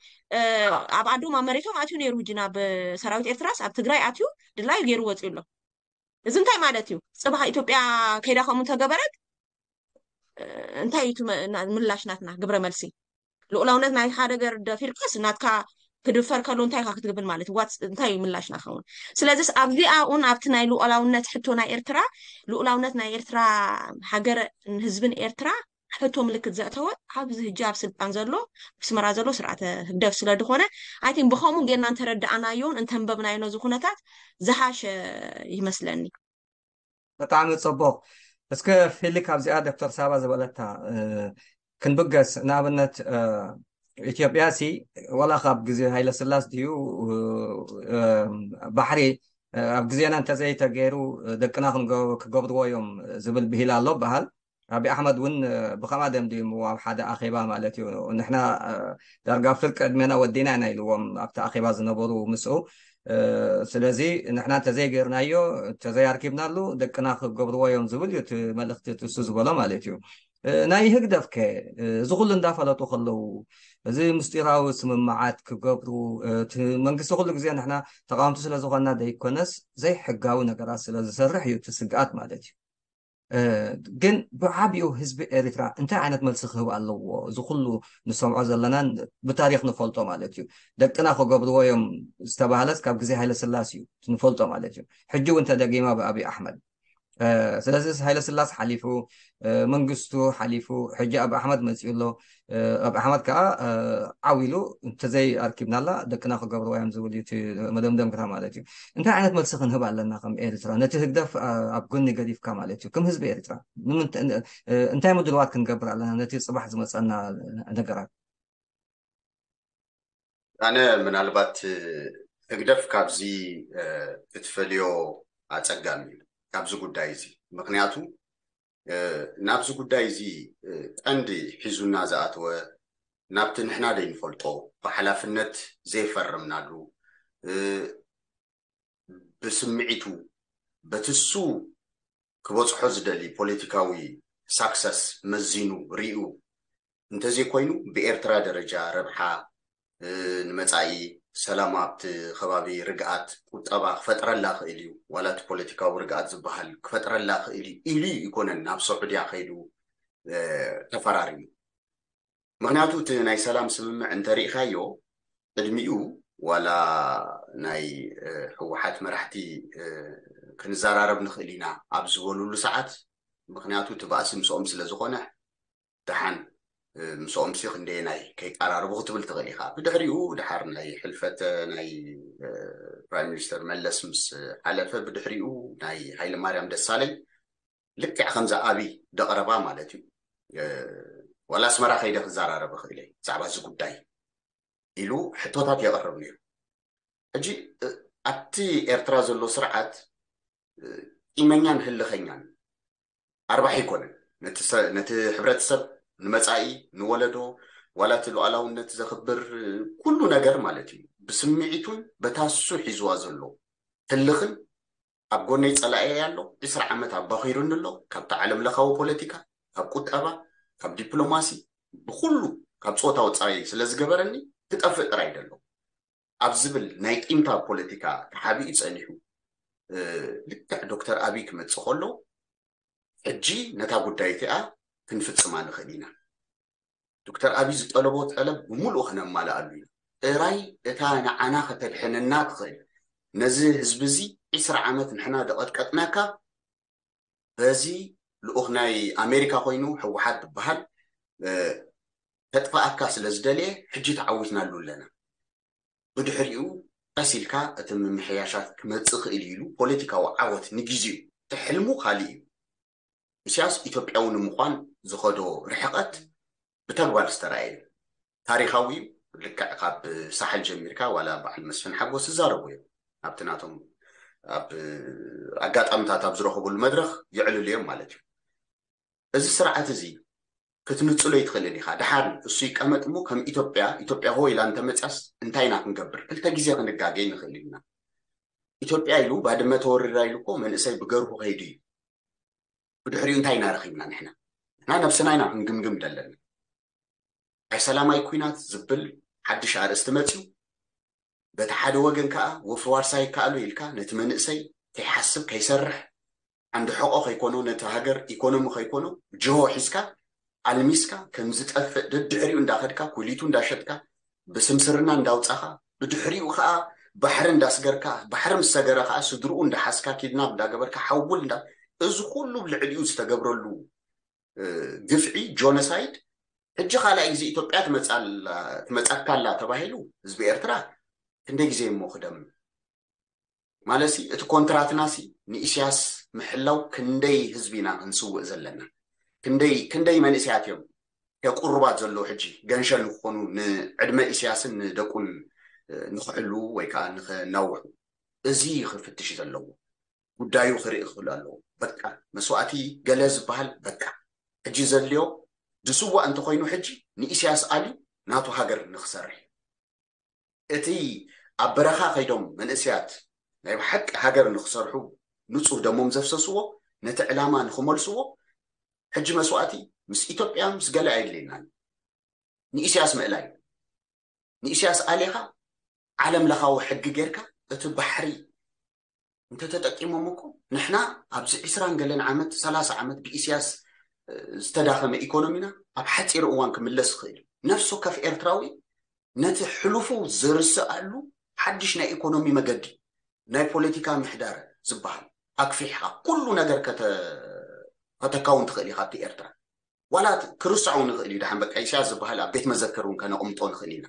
ኣብ ኣዶም ኣብ መሬቶም ኣትዩ ነይሩ ሕጂ ናብ ሰራዊት ኤርትራስ ኣብ ትግራይ ኣትዩ ድላዩ ገይሩ ወፂኡ ኣሎ። እዚ እንታይ ማለት እዩ? ፅባሕ ኢትዮጵያ ከይዳ ከምኡ እንተገበረት እንታይ እዩ ምላሽ ናትና ግብረ መልሲ? ልኡላውነት ናይ ሓደ ገር ደፊርካስ ናትካ ክድፈር ከሎ እንታይ ኢካ ክትግብል ማለት እዩ? እንታይ እዩ ምላሽና ክኸውን? ስለዚስ ኣብዚኣ እውን ኣብቲ ናይ ልኡላውነት ሕቶ ናይ ኤርትራ ልኡላውነት ናይ ኤርትራ ሃገር ህዝብን ኤርትራ ሕቶ ምልክት ዘእተወ ኣብዚ ህጂ ኣብ ስልጣን ዘሎ ኣስመራ ዘሎ ስርዓተ ህግደፍ ስለ ዝኾነ ኣይቲን ብኸምኡ ጌርና እንተረዳእናዮን እንተንበብናዮ ነዚ ኩነታት ዝሃሸ ይመስለኒ። ብጣዕሚ ፅቡቅ። እስከ ፊሊክ ኣብዚኣ ዶክተር ሳባ ዝበለታ ክንብገስ ንኣብነት ኢትዮጵያ ሲ ወላ ካብ ግዜ ሃይለ ስላስ ድዩ ባሕሪ ኣብ ግዜና እንተዘይተገይሩ ደቅና ክገብርዎ እዮም ዝብል ብሂል ኣሎ በሃል። ኣብይ ኣሕመድ እውን ብኸምኣ ደምዲሙ ኣብ ሓደ ኣኼባ ማለት እዩ ንሕና ዳርጋ ፍርቂ ዕድሜና ወዲና ኢና ኢልዎም ኣብቲ ኣኼባ ዝነበሩ ምስኡ። ስለዚ ንሕና እንተዘይገይርናዮ እንተዘይኣርኪብናሉ ደቅና ክገብርዎ እዮም ዝብል እዩ እቲ መልእኽቲ እሱ ዝበሎ ማለት እዩ። ናይ ህግደፍ ከ እዚ ኩሉ እንዳፈለጡ ከለዉ እዚ ምስጢራዊ ስምምዓት ክገብሩ እቲ መንግስቲ ኩሉ ግዜ ንሕና ተቃወምቲ ስለዝኮና ዘይኮነስ ዘይሕጋዊ ነገራት ስለዝሰርሕ እዩ እቲ ስግኣት ማለት እዩ። ግን ብዓብኡ ህዝቢ ኤሪትራ እንታይ ዓይነት መልሲ ክህብ ኣለዎ? እዚ ኩሉ ንሰምዖ ዘለናን ብታሪክ ንፈልጦ ማለት እዩ። ደቅና ክገብርዎ እዮም ዝተባህለስ ካብ ግዜ ሃይለ ስላስ እዩ ንፈልጦ ማለት እዩ። ሕጂ እውን ተደጊማ ብኣብይ ኣሕመድ። ስለዚ ሃይለ ስላስ ሓሊፉ መንግስቱ ሓሊፉ ሕጂ ኣብ ኣሕመድ መፅኡ ኣሎ። ኣብ ኣሕመድ ከዓ ዓው ኢሉ እንተዘይ ኣርኪብናላ ደቅና ክገብርዋ እዮም ዝብል እዩ እቲ መደምደምታ ማለት እዩ። እንታይ ዓይነት መልሲ ክንህብ ኣለና ከም ኤርትራ ነቲ ህግደፍ ኣብ ጎኒ ገዲፍካ ማለት እዩ ከም ህዝቢ ኤርትራ እንታይ ምድልዋት ክንገብር ኣለና ነቲ ፅባሕ ዝመፀና ነገራት? ኣነ ምናልባት ህግደፍ ካብዚ ክትፈልዮ ኣፀጋሚ እዩ ካብዚ ጉዳይ እዚ። ምክንያቱ ናብዚ ጉዳይ እዚ ቀንዲ ሒዙና ዝኣተወ ናብቲ ንሕና ዘይንፈልጦ ብሓላፍነት ዘይፈረምናሉ ብስምዒቱ በቲ እሱ ክበፅሖ ዝደሊ ፖለቲካዊ ሳክሰስ መዚኑ ሪኡ እንተዘይኮይኑ ብኤርትራ ደረጃ ረብሓ ንመፃኢ ሰላም ኣብቲ ከባቢ ርግኣት ቁጠባ ክፈጥረላ ክእል እዩ ዋላ እቲ ፖለቲካዊ ርግኣት ዝበሃል ክፈጥረላ ክእል እዩ ኢሉ ኣይኮነን ናብ ሰዑድያ ከይዱ ተፈራሪሙ። ምክንያቱ እቲ ናይ ሰላም ስምምዕ እንተሪኢካዮ ቅድሚኡ ዋላ ናይ ህወሓት መራሕቲ ክንዘራረብ ንክእል ኢና ኣብ ዝበሉሉ ሰዓት ምክንያቱ እቲ ባእሲ ምስኦም ስለዝኮነ ደሓን ምስኦም ሲ ክንደየናይ ከይቀራርቡ ክትብል ትኽእል ኢኻ። ብድሕሪኡ ድሓር ናይ ሕልፈተ ናይ ፕራይም ሚኒስተር መለስ ምስ ሓለፈ ብድሕሪኡ ናይ ሃይለ ማርያም ደሳለኝ ልክዕ ከምዛ ኣብይ ደቕረባ ማለት እዩ ዋላ ኣስመራ ከይደ ክዘራረብ እኽእል እየ ብዛዕባ እዚ ጉዳይ ኢሉ ሕቶታት የቕርብ ነይሩ። ሕጂ ኣብቲ ኤርትራ ዘሎ ስርዓት ቂመኛን ህልኸኛን ኣርባሕ ኣይኮነን ነቲ ሕብረተሰብ ንመፃኢ ንወለዶ ዋላ እቲ ሉዓላውነት ዘኽብር ኩሉ ነገር ማለት እዩ ብስምዒቱን በታሱ ሒዝዋ ዘሎ ህልኽን ኣብ ጎነይ ፀላኤ ኣሎ ዕስራ ዓመት ኣባኺሩኒ ኣሎ ካብቲ ዓለም ለኻዊ ፖለቲካ ካብ ቁጠባ ካብ ዲፕሎማሲ ብኩሉ ካብ ፆታ ወፃኢ ስለዝገበረኒ ክጠፍእ ጥራይ ደሎ ኣብ ዝብል ናይ ቂምታ ፖለቲካ ተሓቢኡ ፀኒሑ ልክዕ ዶክተር ኣብይ ክመፅእ ከሎ ሕጂ ነታ ጉዳይ እቲኣ ክንፍፅማ ንኽእል ኢና። ዶክተር ኣብይ ዝጠለቦ ጠለብ ብምሉእ ክነማልኣሉ ኢና። ጥራይ እታ ንዓና ከተድሕነና ትኽእል ነዚ ህዝቢ እዚ ዒስራ ዓመት ንሕና ደቐጥቀጥናካ፣ በዚ ልኡኽ ናይ ኣሜሪካ ኮይኑ ህወሓት ዝበሃል ተጥፋኣካ ስለ ዝደለየ ሕጂ ተዓዊትናሉ ኣለና። ብድሕሪኡ ቀስ ኢልካ እቲ ምምሕያሻት ክመፅእ ክእል እዩ ኢሉ ፖለቲካዊ ዓወት ንግዜኡ፣ እቲ ሕልሙ ካልእ እዩ። ኢሳያስ ኢትዮጵያዊ ንምዃን ዝኸዶ ርሕቐት ብተግባር ዝተረኣየ እዩ። ታሪኻዊ እዩ። ልክዕ ካብ ሳሕል ጀሚርካ ዋላ በዓል መስፍን ሓጎስ ዝዛረቡ እዮም። ኣብቲ ናቶም ኣብ ኣጋጣሚታት ኣብ ዝረኸብሉ መድረኽ የዕልሉ እዮም ማለት እዩ። እዚ ስርዓት እዚ ክትንጽሎ ይትኽእልን ኢኻ። ደሓር እሱ ይቀመጥ እሞ ከም ኢትዮጵያ፣ ኢትዮጵያ ሆ ኢላ እንተመጽያስ እንታይ ኢና ክንገብር? ክልተ ግዜ ክንጋገ ንኽእል ኢና። ኢትዮጵያ ኢሉ ባድመ ተወሪራ ኢሉ እኮ መንእሰይ ብገርሁ ከይዱ እዩ። ብድሕሪኡ እንታይ ኢና ረኺብና ንሕና? ንሕና ነብስና ኢና ክንግምግም ዘለና። ናይ ሰላማይ ኲናት ዝብል ሓድሽ ኣርእስቲ መጽዩ። በቲ ሓደ ወገን ከኣ ወፍሪ ዋርሳይ ይከኣሎ ኢልካ ነቲ መንእሰይ ከይሓስብ ከይሰርሕ ዓንዲ ሕቖ ከይኮኖ ነቲ ሃገር ኢኮኖሚ ከይኮኖ ጅሆ ሒዝካ ኣልሚስካ ከም ዝጠፍእ ደድሕሪኡ እንዳኸድካ ኩሊቱ እንዳሸጥካ ብስምስርና እንዳውጻኻ ብድሕሪኡ ከኣ ባሕሪ እንዳስገርካ ባሕሪ ምስ ሰገረ ከኣ ስድርኡ እንዳሓዝካ ኪድናብ እንዳገበርካ ሓውል እንዳ እዚ ኩሉ ልዕሊኡ ዝተገብረሉ ግፍዒ ጆኖሳይድ ሕጂ ካልኣይ ግዜ ኢትዮጵያ ትመጻካላ ተባሂሉ ህዝቢ ኤርትራ ክንደይ ግዜ እሞ ክደም ማለት እቲ ኮንትራትና ሲ ንኢስያስ ምሕላው ክንደይ ህዝቢ ኢና ክንስውእ ዘለና ክንደይ ክንደይ መንእሰያት እዮም ከቁርባት ዘለዉ ሕጂ ገንሸል ንክኾኑ ንዕድመ ኢስያስን ንደቁን ንክሕሉ ወይ ከዓ ንክናውሑ እዚ ክፍትሽ ዘለዎ ጉዳዩ ክርኢ ክኽእል ኣለዎ። በቃ መስዋእቲ ገለ ዝበሃል በቃ ሕጂ ዘድልዮ ዝስዋእ እንተኮይኑ ሕጂ ንኢሳያስ ኣልዩ ናቱ ሃገር ንክሰርሕ እቲ ኣብ በረኻ ከይዶም መንእስያት ናይ ብሓቂ ሃገር ንክሰርሑ ንጹህ ደሞም ዘፍሰስዎ ነቲ ዕላማ ንክመልስዎ ሕጂ መስዋእቲ ምስ ኢትዮጵያ ምስ ገለ ኣየድልየናን ንኢሳያስ ምእላይ ንኢሳያስ ኣሊኻ ዓለም ለኻዊ ሕጊ ጌርካ እቲ ባሕሪ እንተተጠቂሞም እኮ ንሕና ኣብዚ ዕስራን ገለን ዓመት ሰላሳ ዓመት ብኢስያስ ዝተዳኸመ ኢኮኖሚና ኣብ ሓፂር እዋን ክምለስ ይኽእል እዩ። ነፍሲ ወከፍ ኤርትራዊ ነቲ ሕሉፉ ዝርስኣሉ ሓድሽ ናይ ኢኮኖሚ መገዲ ናይ ፖለቲካ ምሕዳር ዝበሃል ኣክፊሕካ ኩሉ ነገር ከተካውን ትኽእል ኢኻ ኣብቲ ኤርትራ ዋላ ክርስዖ ንኽእል እዩ ደሓን በቃ ኢሳያስ ዝበሃል ኣብ ቤት መዘክር እውን ከነቕምጦ ንኽእል ኢና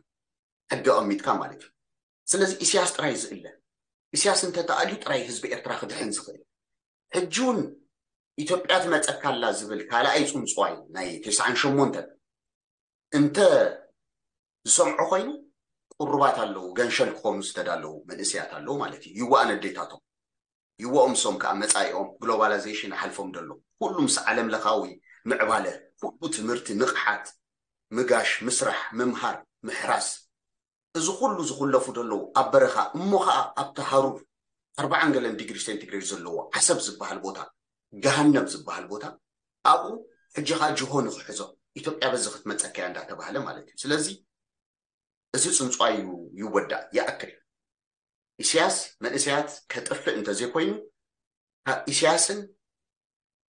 ሕጊ ኣቐሚጥካ ማለት እዩ ስለዚ ኢሳያስ ጥራይ ዝእለ ኢሳያስ እንተተኣልዩ ጥራይ ህዝቢ ኤርትራ ክድሕን ዝኽእል ሕጂ እውን ኢትዮጵያ ትመፀካ ኣላ ዝብል ካልኣይ ፅንፅዋይ ናይ ተስዓን ሸሞንተን እንተ ዝሰምዖ ኮይኑ ቁሩባት ኣለዉ ገንሸል ክኾኑ ዝተዳለዉ መንእሰያት ኣለዉ ማለት እዩ ይዋእ ነዴታቶም ይዋኦም ሶም ከዓ መፃኢኦም ግሎባላይዜሽን ይሓልፎም ደሎ ኩሉ ምስ ዓለም ለኻዊ ምዕባለ ኩሉ ትምህርቲ ንቕሓት ምጋሽ ምስራሕ ምምሃር ምሕራስ እዚ ኩሉ ዝኹለፉ ዘለዉ ኣብ በረኻ እሞ ኸዓ ኣብቲ ሃሩር ኣርባዓን ገለን ዲግሪ ሴንቲግሬድ ዘለዎ ዓሰብ ዝበሃል ቦታ ገሃነብ ዝበሃል ቦታ ኣብኡ ሕጂ ኸዓ ጅሆ ንኽሕዞ ኢትዮጵያ በዚ ክትመፀካ እያ እንዳተባህለ ማለት እዩ ስለዚ እዚ ፅንፅዋይ ይወዳእ ይኣክል ኢስያስ መንእሰያት ከጥፍእ እንተዘይኮይኑ ካብ ኢስያስን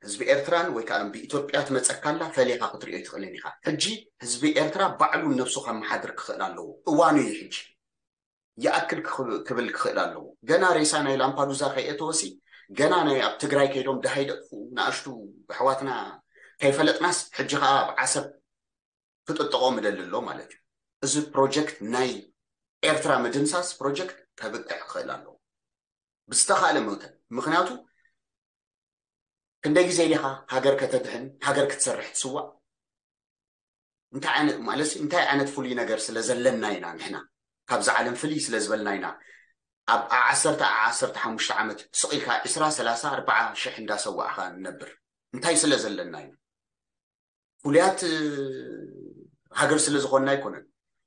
ህዝቢ ኤርትራን ወይ ከዓ ብኢትዮጵያ ትመፀካላ ፈሊኻ ክትሪኦ ይትኽእልን ኢኻ ሕጂ ህዝቢ ኤርትራ ባዕሉ ነብሱ ከመሓድር ክኽእል ኣለዎ እዋኑ እዩ ሕጂ ይኣክል ክብል ክኽእል ኣለዎ ገና ሬሳ ናይ ላምፓዱዛ ከይእተወሲ ገና ናይ ኣብ ትግራይ ከይዶም ደሃይ ደቅፉ ንኣሽቱ ኣሕዋትና ከይፈለጥናስ ሕጂ ከዓ ኣብ ዓሰብ ክጥጥቖ ምደሊ ኣሎ ማለት እዩ እዚ ፕሮጀክት ናይ ኤርትራ ምድምሳስ ፕሮጀክት ከብቅዕ ክኽእል ኣለዎ ብዝተኻእለ መውተን ምክንያቱ ክንደይ ግዜ ኢኻ ሃገር ከተድሕን ሃገር ክትሰርሕ ትስዋእ እንታይ ዓይነት ማለት እንታይ ዓይነት ፍሉይ ነገር ስለ ዘለና ኢና ንሕና ካብዚ ዓለም ፍልይ ስለ ዝበልና ኢና ኣብ ዓሰርተ ዓሰርተ ሓሙሽተ ዓመት ስቕ ኢልካ ዕስራ ሰላሳ ኣርባዓ ሽሕ እንዳሰዋእኻ ንነብር እንታይ ስለ ዘለና ኢና ፍሉያት ሃገር ስለ ዝኾንና ኣይኮነን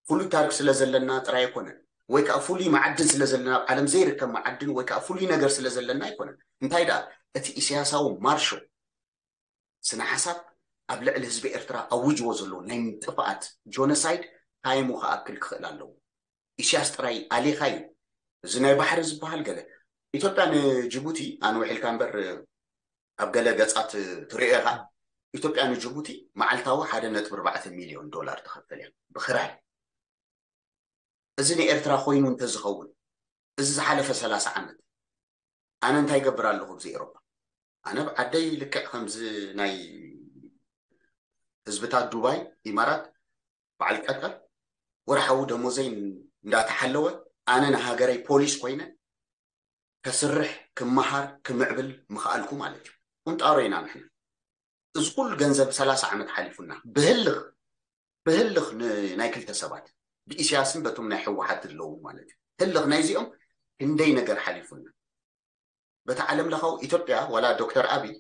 ፍሉይ ታሪክ ስለ ዘለና ጥራይ ኣይኮነን ወይ ከዓ ፍሉይ መዓድን ስለ ዘለና ኣብ ዓለም ዘይርከብ መዓድን ወይ ከዓ ፍሉይ ነገር ስለ ዘለና ኣይኮነን እንታይ ደኣ እቲ ኢሳያሳዊ ማርሾ ስነ ሓሳብ ኣብ ልዕሊ ህዝቢ ኤርትራ ኣውጅዎ ዘሎ ናይ ጥፍኣት ጆኖሳይድ ታይሙ ክኣክል ክኽእል ኣለዎ ኢስያስ ጥራይ ኣሊኻ እዩ እዚ ናይ ባሕሪ ዝበሃል ገለ ኢትዮጵያ ንጅቡቲ ኣነ ውሒልካ እምበር ኣብ ገለ ገጻት ትሪኦ ኢኻ ኢትዮጵያ ንጅቡቲ መዓልታዊ ሓደ ነጥቢ ኣርባዕተ ሚልዮን ዶላር ትኸፍል እያ ብክራይ እዚ ንኤርትራ ኮይኑ እንተዝኸውን እዚ ዝሓለፈ ሰላሳ ዓመት ኣነ እንታይ ይገብር ኣለኹ ኣብዚ ኤሮፓ? ኣነ ብዓደይ ልክዕ ከምዚ ናይ ህዝብታት ዱባይ፣ ኢማራት፣ በዓል ቀጠር ወርሓዊ ደሞዘይ እንዳተሓለወ ኣነ ንሃገረይ ፖሊስ ኮይነ ከስርሕ፣ ክመሃር፣ ክምዕብል ምኽኣልኩ ማለት እዩ። ቁንጣሮ ኢና ንሕና። እዚ ኩሉ ገንዘብ ሰላሳ ዓመት ሓሊፉና ብህልኽ ብህልኽ ን- ናይ ክልተ ሰባት ብኢሳያስን በቶም ናይ ህወሓት ዘለዉ ማለት እዩ። ህልኽ ናይዚኦም ክንደይ ነገር ሓሊፉና። በቲ ዓለም ለኻዊ ኢትዮጵያ ዋላ ዶክተር ኣብይ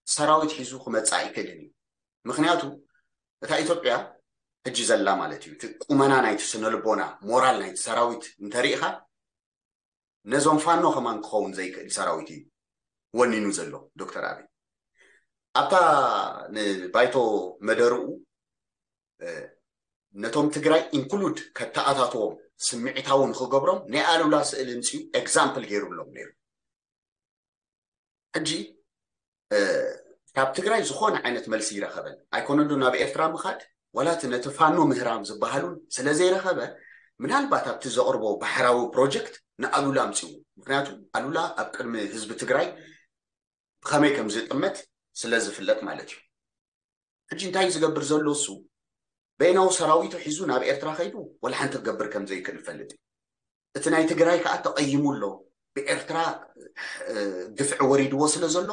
ሰራዊት ሒዙ ክመፅእ ኣይክእልን እዩ። ምክንያቱ እታ ኢትዮጵያ ሕጂ ዘላ ማለት እዩ እቲ ቁመና ናይቲ ስነልቦና ሞራል ናይቲ ሰራዊት እንተሪኢኻ ነዞም ፋኖ ከማን ክኸውን ዘይክእል ሰራዊት እዩ ወኒኑ ዘሎ ዶክተር ኣብይ። ኣብታ ንባይቶ መደርኡ ነቶም ትግራይ ኢንክሉድ ከተኣታትዎም ስምዒታዊ ንክገብሮም ናይ ኣሉላ ስእሊ ምፅኡ ኤግዛምፕል ገይሩሎም ነይሩ። ሕጂ ካብ ትግራይ ዝኾነ ዓይነት መልሲ ይረኸበን ኣይኮነሉ ናብ ኤርትራ ምኻድ ዋላ እቲ ነቲ ፋኖ ምህራም ዝበሃሉን ስለዘይረኸበ ምናልባት ኣብቲ ዘቕርቦ ባሕራዊ ፕሮጀክት ንኣሉላ ኣምፅኡ። ምክንያቱ ኣሉላ ኣብ ቅድሚ ህዝቢ ትግራይ ብኸመይ ከም ዝጥመት ስለ ዝፍለጥ ማለት እዩ። ሕጂ እንታይ ዝገብር ዘሎ እሱ በይናዊ ሰራዊቱ ሒዙ ናብ ኤርትራ ከይዱ ወላ ሓንቲ ክገብር ከም ዘይክእል ይፈልጥ እዩ። እቲ ናይ ትግራይ ከዓ ተቐይሙ ኣሎ። ብኤርትራ ግፍዒ ወሪድዎ ስለ ዘሎ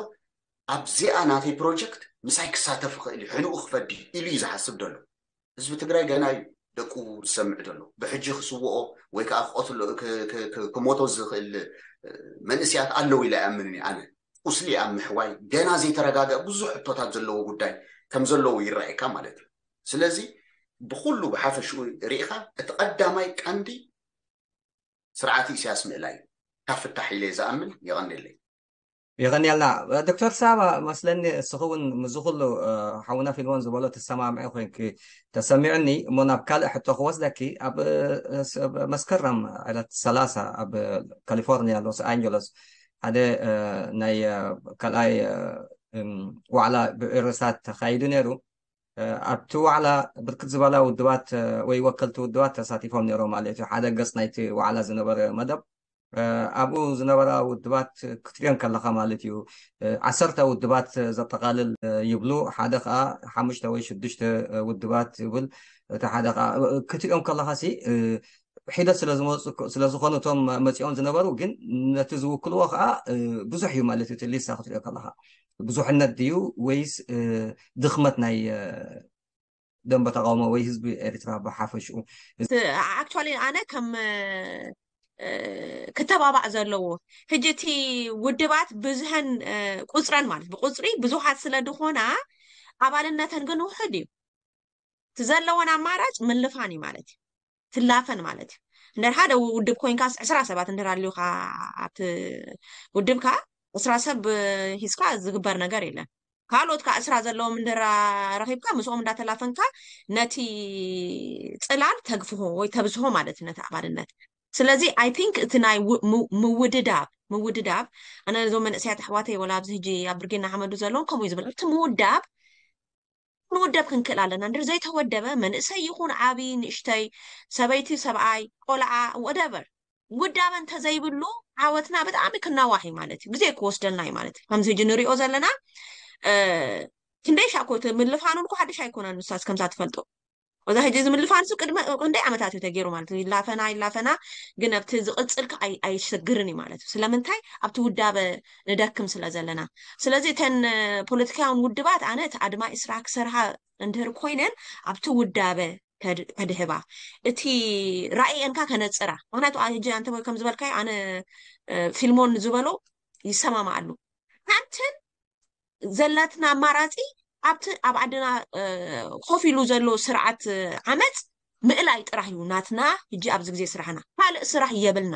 ኣብዚኣ ናተይ ፕሮጀክት ምሳይ ክሳተፍ ይኽእል እዩ፣ ሕንኡ ክፈዲ ኢሉ እዩ ዝሓስብ ዘሎ። ህዝቢ ትግራይ ገና እዩ ደቁ ዝሰምዕ ዘሎ። ብሕጂ ክስውኦ ወይ ከዓ ክቐትሎ ክሞቶ ዝኽእል መንእስያት ኣለዉ ኢለ ኣይኣምንን እየ ኣነ። ቁስሊ ኣብ ምሕዋይ ገና ዘይተረጋገ ብዙሕ ሕቶታት ዘለዎ ጉዳይ ከም ዘለዎ ይረኣየካ ማለት እዩ። ስለዚ ብኩሉ ብሓፈሽኡ ርኢኻ እቲ ቀዳማይ ቀንዲ ስርዓት ኢሳያስ ምእላይ ካብ ፍታሕ ኢለ ዝኣምን። የቐንየለይ። የቐንየልና ዶክተር ሳባ። መስለኒ እስኺ እውን ምስዚ ኩሉ ሓውና ፊልሞን ዝበሎ ትሰማምዐ ኮይንኪ ተሰሚዑኒ እሞ ናብ ካልእ ሕቶ ክወስደኪ። ኣብ መስከረም ዕለት ሰላሳ ኣብ ካሊፎርኒያ ሎስ ኣንጀለስ ሓደ ናይ ካልኣይ ዋዕላ ብዕርሳት ተኻይዱ ነይሩ። ኣብቲ ዋዕላ ብርክት ዝበላ ውድባት ወይ ወከልቲ ውድባት ተሳቲፎም ነይሮም ማለት እዩ። ሓደ ገፅ ናይቲ ዋዕላ ዝነበረ መደብ ኣብኡ ዝነበራ ውድባት ክትሪኦን ከለካ ማለት እዩ። ዓሰርተ ውድባት ዘጠቃልል ይብሉ፣ ሓደ ከዓ ሓሙሽተ ወይ ሽዱሽተ ውድባት ይብል፣ እቲ ሓደ ከዓ ክትሪኦም ከለካ ሲ ሒደት ስለዝመፁ ስለዝኾኑ እቶም መፂኦም ዝነበሩ ግን ነቲ ዝውክልዎ ከዓ ብዙሕ እዩ ማለት እዩ። እቲ ሊስታ ክትሪኦ ከለካ ብዙሕነት ድዩ ወይስ ድኽመት ናይ ደንበ ተቃውሞ ወይ ህዝቢ ኤርትራ ብሓፈሽኡ? ኣክቹዋሊ ኣነ ከም ክተባባዕ ዘለዎ ሕጂ እቲ ውድባት ብዝሀን ቁፅረን ማለት ብቁፅሪ ብዙሓት ስለ ዝኾና ኣባልነተን ግን ውሕድ እዩ። እቲ ዘለወን ኣማራጭ ምልፋን እዩ ማለት እዩ። ትላፈን ማለት እዩ። እንድሕር ሓደ ውድብ ኮይንካስ ዕስራ ሰባት እንድሕር ኣልዩካ ኣብቲ ውድብካ ዕስራ ሰብ ሂዝካ ዝግበር ነገር የለን። ካልኦት ከዓ ዕስራ ዘለዎም እንድሕር ረኺብካ ምስኦም እንዳተላፈንካ ነቲ ፅላል ተግፍሆ ወይ ተብዝሆ ማለት እዩ ነቲ ኣባልነት። ስለዚ ኣይ ቲንክ እቲ ናይ ምውድዳብ ምውድዳብ ኣነ ነዞም መንእሰያት ኣሕዋተይ ወላ ኣብዚ ሕጂ ኣብ ብርጌና ሓመዱ ዘለውን ከምኡ እዩ ዝብል ኣብቲ ምውዳብ ክንውደብ ክንክእል ኣለና። እንድሕር ዘይተወደበ መንእሰይ ይኹን ዓብዪ ንእሽተይ፣ ሰበይቲ ሰብኣይ፣ ቆልዓ፣ ወደቨር ውዳበ እንተዘይብሉ ዓወትና ብጣዕሚ ክናዋሕ እዩ ማለት እዩ። ግዜ ክወስደልና እዩ ማለት እዩ። ከምዚ ሕጂ ንሪኦ ዘለና ክንደይ ሻኮ ምልፋኑ እኮ ሓድሽ ኣይኮነን። ንሳስ ከምዛ ትፈልጦ እዛ ሕጂ እዚ ምልፋን እሱ ቅድሚ ክንደይ ዓመታት እዩ ተገይሩ ማለት እዩ። ይላፈና ይላፈና ግን ኣብቲ ዝቕፅል ኣይሸግርን እዩ ማለት እዩ። ስለምንታይ ኣብቲ ውዳበ ንደክም ስለ ዘለና። ስለዚ እተን ፖለቲካውያን ውድባት ኣነ እቲ ኣድማ ኢስራ ክሰርሃ እንድህር ኮይነን ኣብቲ ውዳበ ከድህባ እቲ ራእየንካ ከነፅራ። ምክንያቱ ሕጂ ኣንተ ከም ዝበልካዮ ኣነ ፊልሞን ዝበሎ ይሰማማኣሉ። ሓንትን ዘለትና ኣማራፂ ኣብቲ ኣብ ዓድና ኮፍ ኢሉ ዘሎ ስርዓት ዓመፅ ምእላይ ጥራሕ እዩ ናትና። ሕጂ ኣብዚ ግዜ ስራሕና ካልእ ስራሕ የብልና።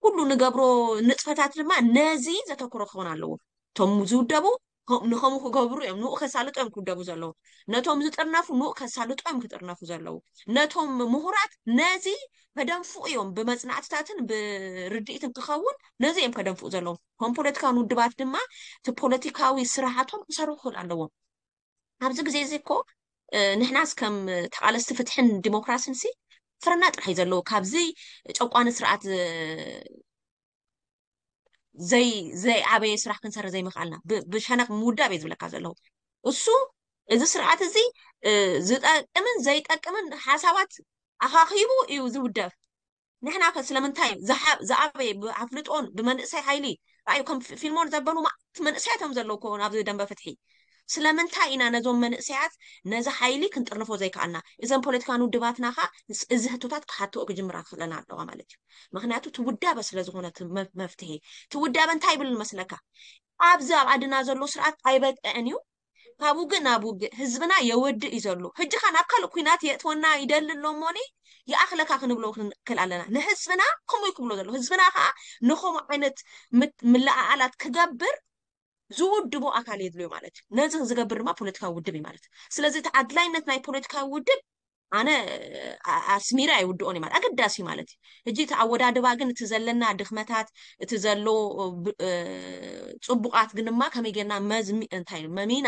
ኩሉ ንገብሮ ንጥፈታት ድማ ነዚ ዘተኩሮ ክኸውን ኣለዎ። እቶም ዝውደቡ ንኸምኡ ክገብሩ እዮም፣ ንኡ ከሳልጦ እዮም ክውደቡ ዘለዉ። ነቶም ዝጥርነፉ ንኡ ከሳልጦ እዮም ክጥርነፉ ዘለዉ። ነቶም ምሁራት ነዚ ከደንፍኡ እዮም፣ ብመፅናዕትታትን ብርድኢትን ክኸውን ነዚ እዮም ከደንፍኡ ዘለዉ። ከም ፖለቲካውን ውድባት ድማ እቲ ፖለቲካዊ ስራሓቶም ክሰርሑ ክኽእል ኣለዎም። ኣብዚ ግዜ እዚ እኮ ንሕናስ ከም ተቓለስቲ ፍትሕን ዲሞክራሲን ሲ ፍረና ጥራሕ እዩ ዘለዎ ካብዚ ጨቋኒ ስርዓት ዘይ ዘይዓበየ ስራሕ ክንሰርሕ ዘይምኽኣልና ብ- ብሸነኽ ምውዳብ እየ ዝብለካ ዘለኹ። እሱ እዚ ስርዓት እዚ እ፣ ዝጠቅምን ዘይጠቅምን ሓሳባት ኣኻኺቡ እዩ ዝውደብ። ንሕና ከ ስለምንታይ ዝሓ- ዝኣበየ ብኣፍልጦን ብመንእሰይ ሓይሊ ራእዩ ከም ፊ- ፊልሞን ዘበሉ ማዕት መንእሰያት እዮም ዘለዉ ኮ ኣብዚ ደንበ ፍትሒ። ስለምንታይ ኢና ነዞም መንእሰያት ነዚ ሓይሊ ክንጥርንፎ ዘይከኣልና? እዘን ፖለቲካን ውድባትና ኸ እዚ ህቶታት ክሓትኦ ክጅምራ ክኽእለና ኣለዋ ማለት እዩ። ምክንያቱ ትውዳበ ስለ ዝኾነ እቲ መ- መፍትሒ ትውዳበ እንታይ ይብል መስለካ? ኣብዚ ኣብ ዓድና ዘሎ ስርዓት ኣይበቅዕን እዩ። ካብ ውግእ ናብ ውግእ ህዝብና የወድእ እዩ ዘሎ። ሕጂ ኸ ናብ ካልእ ኩናት የእትወና ይደሊ ኣሎ እሞኒ ይኣኽለካ ክንብሎ ክንክእል ኣለና። ንህዝብና ከምኡ እዩ ክብሎ ዘሎ። ህዝብና ከዓ ንኸምኡ ዓይነት ምት- ምልኣኣላት ክገብር ዝውድቦ ኣካል የድልዮ ማለት እዩ። ነዚ ዝገብር ድማ ፖለቲካዊ ውድብ እዩ ማለት እዩ። ስለዚ እቲ ኣድላይነት ናይ ፖለቲካዊ ውድብ ኣነ ኣ- ኣስሚረ ኣይውድኦን እዩ ማለት ኣገዳሲ ማለት እዩ። ሕጂ እቲ ኣወዳድባ ግን እቲ ዘለና ድኽመታት እቲ ዘሎ ብ- እ፣ ፅቡቃት ግን ድማ ከመይ ጌርና መዝሚ እንታይ እዩ መሚና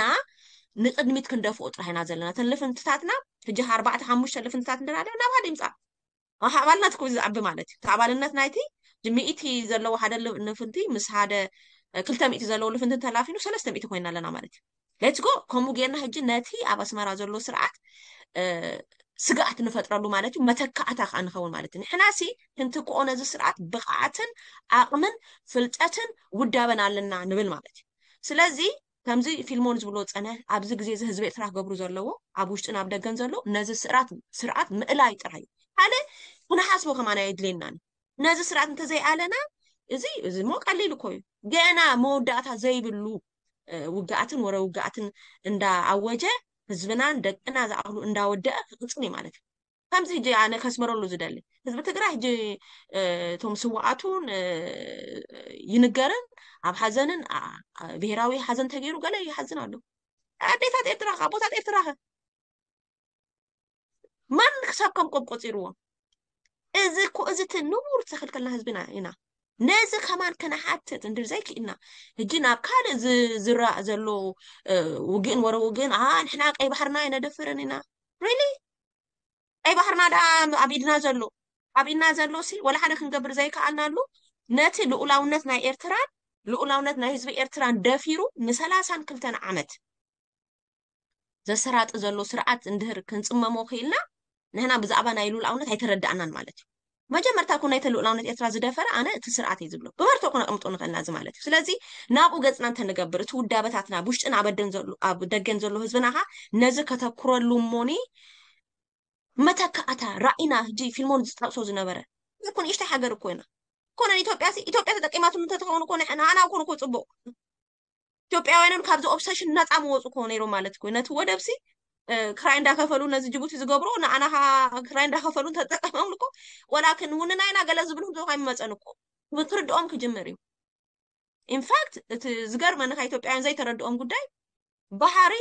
ንቅድሚት ክንደፍኦ ጥራሕ ኢና ዘለና። እተን ልፍንትታትና ሕጂ ኣርባዕተ ሓሙሽተ ልፍንትታት እንድና ናብ ሓደ ይምፃእ ኣባልነት ኩ ዝዓቢ ማለት እዩ። እቲ ኣባልነት ናይቲ ሚእቲ ዘለዎ ሓደ ል- ልፍንቲ ምስ ሓደ እ፣ ክልተ ሚእቲ ዘለዎ ልፍንቲ ተላፊኑ ሰለስተ ሚእቲ ኮይና ኣለና ማለት እዩ። ሌትስ ጎ ከምኡ ጌርና ሕጂ ነቲ ኣብ ኣስመራ ዘሎ ስርዓት እ፣ ስግኣት ንፈጥረሉ ማለት እዩ። መተካእታ ከዓ ንኸውን ማለት እዩ። ንሕና ሲ ክንትክኦ ነዚ ስርዓት ብቕዓትን ዓቕምን ፍልጠትን ውዳበን ኣለና ንብል ማለት እዩ። ስለዚ ከምዚ ፊልሞን ዝብሎ ፀነ ኣብዚ ግዜ እዚ ህዝቢ ኤርትራ ክገብሩ ዘለዎ ኣብ ውሽጥን ኣብ ደገን ዘሎ ነዚ ስርዓት ስርዓት ምእላይ ጥራይ እዩ። ካልእ ክንሓስቦ ከማን ኣየድልየናን። ነዚ ስርዓት እንተዘይኣለና እዚ እዚ ሞ ቀሊል እኮ እዩ። ገና መወዳእታ ዘይብሉ እ፣ ውግኣትን ወረ ውግኣትን እንዳኣወጀ ህዝብናን ደቅና ዝኣኽሉ እንዳወደአ ክቅፅል እዩ ማለት እዩ። ከምዚ ሕጂ ኣነ ከስመረሉ ዝደሊ ህዝቢ ትግራይ ሕጂ እ፣ እቶም ስዋኣቱን እ፣ ይንገርን ኣብ ሓዘንን ኣ- ኣ- ብሄራዊ ሓዘን ተገይሩ ገለ ይሓዝን ኣሎ። ኣዴታት ኤርትራ ከ ኣቦታት ኤርትራ ከ ማን ክሳብ ከም ቆብ ቆፂርዎ እዚ እኮ እዚ እቲ ንቡር ዘኽልከልና ህዝብና ኢና። ነዚ ከማን ከነሓትት እንድር ዘይክእልና ሕጂ ናብ ካልእ ዝ- ዝረእ ዘሎ እ፣ ውግእን ወረ ውግእን ኣ ንሕና ቀይ ባሕርና ኣይነደፍርን ኢና። ሪሊ ቀይ ባሕርና ደኣ ኣብ ኢድና ዘሎ ኣብ ኢድና ዘሎ ሲ ወላ ሓደ ክንገብር ዘይከኣልናሉ ነቲ ልኡላውነት ናይ ኤርትራን ልኡላውነት ናይ ህዝቢ ኤርትራን ደፊሩ ንሰላሳን ክልተን ዓመት ዘሰራጢ ዘሎ ስርዓት እንድህር ክንፅመሞ ክኢልና ንሕና ብዛዕባ ናይ ልኡላውነት ኣይተረዳእናን ማለት እዩ። መጀመርታ እኮ ናይተ ልኡላውነት ኤርትራ ዝደፈረ ኣነ እቲ ስርዓት እዩ ዝብሎ ብመርትኦ ክነቅምጦ ንኽእልና እዚ ማለት እዩ። ስለዚ ናብኡ ገፅና እንተንገብር እቲ ውዳበታትና ብውሽጥን ኣብ ኣደን ዘሎ ኣብ ደገን ዘሎ ህዝብና ኸ ነዚ ከተኩረሉ እሞኒ መተካእታ ራኢና ሕጂ ፊልሞን ዝጠቅሶ ዝነበረ እኮ ንእሽተይ ሃገር እኮ ኢና ኮነ ኢትዮጵያ ሲ ኢትዮጵያ ተጠቂማትሉ እንተትኸውን እኮ ንዓና ኮነ እኮ ፅቡቅ ኢትዮጵያውያንን ካብዚ ኦብሰሽን ነፃ ምወፁ እኮ ነይሮም ማለት እኮ ነቲ ወደብ ሲ ክራይ እንዳከፈሉ ነዚ ጅቡቲ ዝገብሮ ንኣና ክራይ እንዳከፈሉ እንተጠቀመም እኮ ወላክን ውንና ኢና ገለ ዝብሉ ዶ ኣይመፀን እኮ ክትርድኦም ክጅምር እዩ። ኢንፋክት እቲ ዝገርመኒ ካብ ኢትዮጵያውያን ዘይተረድኦም ጉዳይ ባሕሪ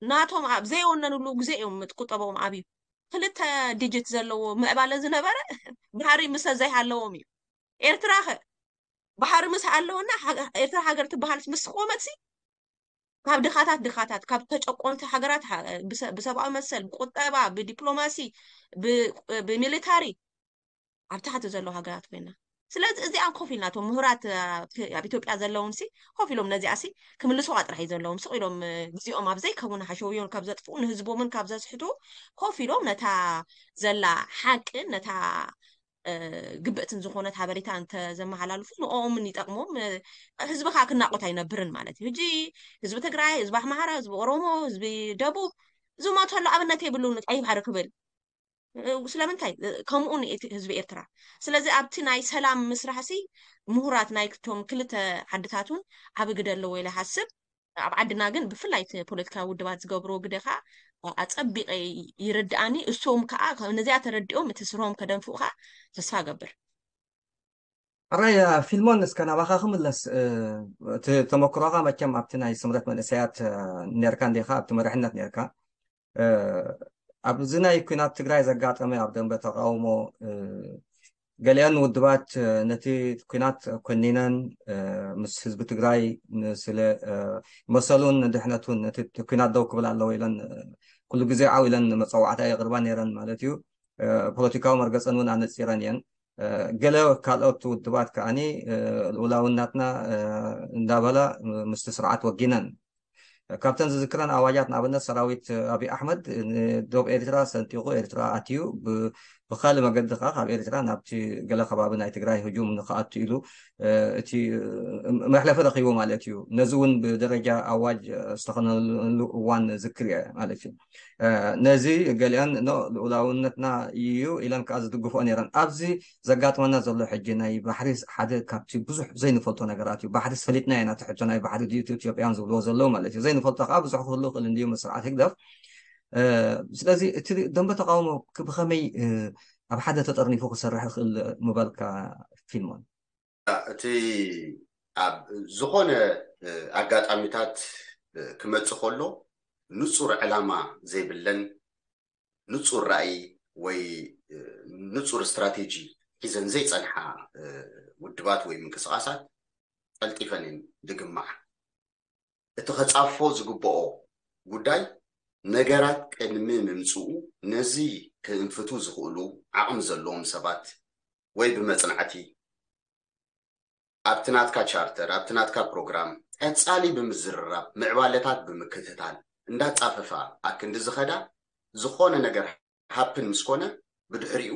ናቶም ኣብ ዘይወነንሉ ግዜ እዮም ቁጠቦም ኣብዩ ክልተ ዲጂት ዘለዎ ምዕባለ ዝነበረ ባሕሪ ምስ ዘይሃለዎም እዩ። ኤርትራ ከ ባሕሪ ምስ ኣለወና ሃገ- ኤርትራ ሃገር ትበሃል ምስ ቆመት ሲ ካብ ድኻታት ድኻታት ካብ ተጨቆንቲ ሃገራት ሃ- ብሰ- ብሰብኣዊ መሰል ብቁጠባ ብዲፕሎማሲ ብ- ብሚሊታሪ ኣብ ታሕቲ ዘለዉ ሃገራት ኮይና ስለዚ እዚኣን ኮፍ ኢልና እቶም ምሁራት ኣብ ኢትዮጵያ ዘለውን ሲ ኮፍ ኢሎም ነዚኣ ሲ ክምልስዋ ጥራሕ እዩ ዘለዎም ስቕ ኢሎም ግዜኦም ኣብ ዘይከውን ሓሸውዮን ካብ ዘጥፍኡ ንህዝቦምን ካብ ዘስሕቱ ኮፍ ኢሎም ነታ ዘላ ሓቅን ነታ ግብእትን ዝኾነት ሓበሬታ እንተዘመሓላልፉ ንኦምን ይጠቅሞም ህዝቢ ከዓ ክናቆት ኣይነብርን ማለት እዩ ህጂ ህዝቢ ትግራይ ህዝቢ ኣሕማራ ህዝቢ ኦሮሞ ህዝቢ ደቡብ ዝሞተሉ ኣብነት የብሉን ቀይ ባሕሪ ክብል ስለምንታይ ከምኡ ንእቲ ህዝቢ ኤርትራ ስለዚ ኣብቲ ናይ ሰላም ምስራሕ ሲ ምሁራት ናይ ክቶም ክልተ ዓድታት እውን ዓቢ ግደ ኣለዎ ኢለ ሓስብ ኣብ ዓድና ግን ብፍላይ እቲ ፖለቲካዊ ውድባት ዝገብርዎ ግደ ከዓ ኣፀቢቀ ይርድኣኒ እሶም ከዓ ነዚኣ ተረዲኦም እቲ ስርሆም ከደንፍኡ ከዓ ተስፋ ገብር ኣራይ ፊልሞን እስከ ናባኻ ክምለስ እቲ ተመክሮኻ መቸም ኣብቲ ናይ ስምረት መንእሰያት ነርካ እንዲኻ ኣብቲ መርሕነት ነርካ ኣብዚ ናይ ኩናት ትግራይ ዘጋጠመ ኣብ ደንበ ተቃውሞ ገሊአን ውድባት ነቲ ኩናት ኮኒነን ምስ ህዝቢ ትግራይ ስለ መሰሉን ንድሕነቱን ነቲ ኩናት ደው ክብል ኣለዎ ኢለን ኩሉ ግዜ ዓው ኢለን መፀዋዕታ የቅርባ ነይረን ማለት እዩ ፖለቲካዊ መርገፀን እውን ኣነፂረን እየን ገለ ካልኦት ውድባት ከዓኒ ልኡላውነትና እንዳበላ ምስቲ ስርዓት ወጊነን። ካብተን ዝዝክረን ኣዋጃት ንኣብነት ሰራዊት ኣብይ ኣሕመድ ንዶብ ኤርትራ ሰንጢቑ ኤርትራ ኣትዩ፣ ብካልእ መገዲ ከዓ ካብ ኤርትራ ናብቲ ገለ ከባቢ ናይ ትግራይ ህጁም ንክኣቱ ኢሉ እቲ መሕለፊ ረኪቡ ማለት እዩ። ነዚ እውን ብደረጃ ኣዋጅ ዝተኸነሉ እዋን ዝክር እየ ማለት እዩ። ነዚ ገሊኣን ልኡላውነትና እዩ ኢለን ከዓ ዝድግፎ ነይረን። ኣብዚ ዘጋጥመና ዘሎ ሕጂ ናይ ባሕሪ ሓደ ካብቲ ብዙሕ ዘይንፈልጦ ነገራት እዩ። ባሕሪ ፈሊጥና ኢና፣ እቲ ሕቶ ናይ ባሕሪ ድዩ ኢትዮጵያን ዝብልዎ ዘለዉ ማለት እዩ። ዘይንፈልጦ ከዓ ብዙሕ ክህሉ ክእል እንድዩ ምስ ስርዓት ህግደፍ። ስለዚ እቲ ደንበ ተቃውሞ ብከመይ ኣብ ሓደ ተጠርኒፉ ክሰርሕ ይኽእል ምበልካ ፊልሞን? እቲ ኣብ ዝኾነ ኣጋጣሚታት ክመፅእ ከሎ ንፁር ዕላማ ዘይብለን ንፁር ራእይ ወይ ንፁር ስትራቴጂ ሒዘን ዘይፀንሓ ውድባት ወይ ምንቅስቃሳት ቀልጢፈን እየን ዝግማዓ። እቲ ከፃፎ ዝግብኦ ጉዳይ ነገራት ቅድሚ ምምፅኡ ነዚ ክእንፍቱ ዝኽእሉ ዓቕሚ ዘለዎም ሰባት ወይ ብመፅናዕቲ ኣብቲ ናትካ ቻርተር ኣብቲ ናትካ ፕሮግራም ቀፃሊ ብምዝርራብ ምዕባለታት ብምክትታል እንዳፃፈፋ ኣክንዲ ዝኸዳ ዝኾነ ነገር ሃፕን ምስ ኮነ ብድሕሪኡ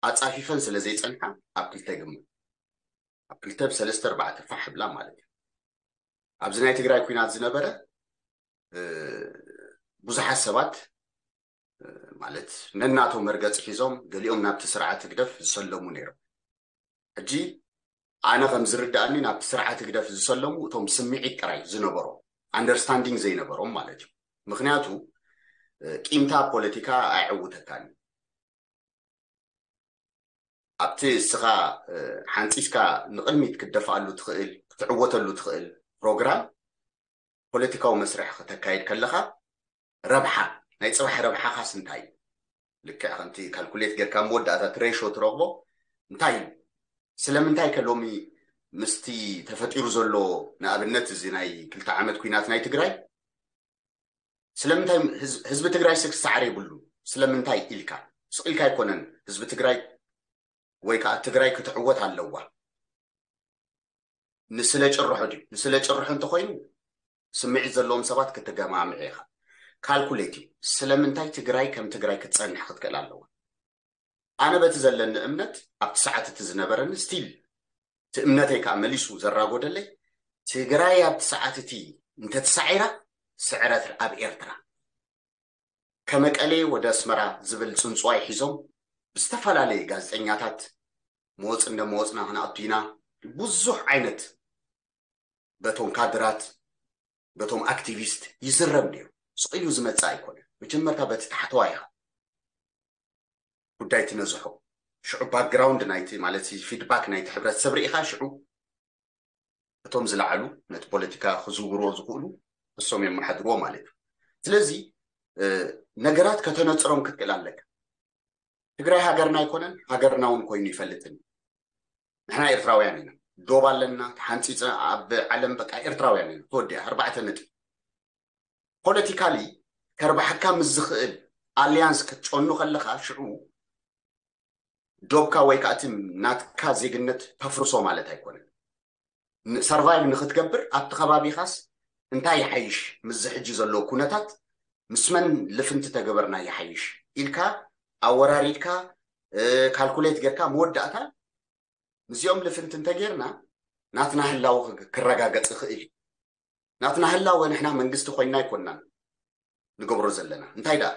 ኣፃፊፈን ስለ ዘይፀንሓ ኣብ ክልተ ግመ ኣብ ክልተ ብሰለስተ ኣርባዕተ ፋሕ ብላ ማለት እዩ። ኣብዚ ናይ ትግራይ ኩናት ዝነበረ ብዙሓት ሰባት ማለት ነናቶም መርገፂ ሒዞም ገሊኦም ናብቲ ስርዓት ህግደፍ ዝሰለሙ ነይሮም። ሕጂ ኣነ ከም ዝርዳእኒ ናብቲ ስርዓት ህግደፍ ዝሰለሙ እቶም ስምዒት ጥራይ ዝነበሮም ኣንደርስታንዲንግ ዘይነበሮም ማለት እዩ። ምክንያቱ ቂምታ ፖለቲካ ኣየዕውተካን ኣብቲ እስኻ ሓንፂስካ ንቕድሚት ክትደፍኣሉ ትኽእል ክትዕወተሉ ትኽእል ፕሮግራም ፖለቲካዊ መስርሕ ክተካየድ ከለኻ ረብሓ ናይ ፅባሕ ረብሓኻስ እንታይ እዩ? ልክዕ ከምቲ ካልኩሌት ጌርካ መወዳእታ እቲ ሬሾ ትረኽቦ እንታይ እዩ? ስለምንታይ ከ ሎሚ ምስቲ ተፈጢሩ ዘሎ ንኣብነት እዚ ናይ ክልተ ዓመት ኩናት ናይ ትግራይ ስለምንታይ ህዝቢ ትግራይ ስክ ሳዕሪ የብሉ ስለምንታይ ኢልካ ስቕ ኢልካ ኣይኮነን ህዝቢ ትግራይ ወይ ከዓ ትግራይ ክትዕወት ኣለዋ ንስለ ጭርሖ ድዩ ንስለ ጭርሖ እንተኮይኑ ስምዒት ዘለዎም ሰባት ክትገማምዕ ኢኻ ካልኩሌት እዩ ስለምንታይ ትግራይ ከም ትግራይ ክትፀንሕ ክትክእል ኣለዋ ኣነ በቲ ዘለኒ እምነት ኣብቲ ሰዓት እቲ ዝነበረኒ ስቲል እቲ እምነተይ ከዓ መሊሱ ዘራጎደለይ ትግራይ ኣብቲ ሰዓት እቲ እንተተሳዒራ ስዕረት ኣብ ኤርትራ ከመቀሌ ወደ ኣስመራ ዝብል ፅንፅዋይ ሒዞም ብዝተፈላለየ ጋዜጠኛታት መወፅ እንደ መወፅና ክንኣቱ ኢና ብዙሕ ዓይነት በቶም ካድራት በቶም ኣክቲቪስት ይዝረብ ነይሩ ስቕ ኢሉ ዝመፅእ ኣይኮነ መጀመርታ በቲ ታሕተዋ ኢኻ ጉዳይ ትነዝሖ ሽዑ ባክግራውንድ ናይቲ ማለት ፊድባክ ናይቲ ሕብረተሰብ ርኢኻ ሽዑ እቶም ዝለዓሉ ነቲ ፖለቲካ ክዝውርዎ ዝኽእሉ እሶም የመሓድርዎ ማለት እዩ ስለዚ ነገራት ከተነፅሮም ክትክእል ኣለካ ትግራይ ሃገርና ኣይኮነን ሃገርና እውን ኮይኑ ይፈልጥን ንሕና ኤርትራውያን ኢና ዶብ ኣለና ተሓንፂፀ ኣብ ዓለም በቃ ኤርትራውያን ኢና ተወዲኣ ኣርባዕተ ነጥቢ ፖለቲካሊ ከርባሕካ ምስ ዝኽእል ኣሊያንስ ክትጨኑ ከለኻ ሽዑ ዶብካ ወይ ከዓ እቲ ናትካ ዜግነት ተፍርሶ ማለት ኣይኮነን ሰርቫይቭ ንክትገብር ኣብቲ ከባቢኻስ እንታይ ይሓይሽ ምስዚ ሕጂ ዘለዎ ኩነታት ምስ መን ልፍንቲ ተገበርና ይሓይሽ ኢልካ ኣወራሪድካ ካልኩሌት ጌርካ መወዳእታ ምስዚኦም ልፍንቲ እንተጌርና ናትና ህላወ ክረጋገፅ ይኽእል እዩ ናትና ህላወ ንሕና መንግስቲ ኮይንና ኣይኮንናን ንገብሮ ዘለና እንታይ ደኣ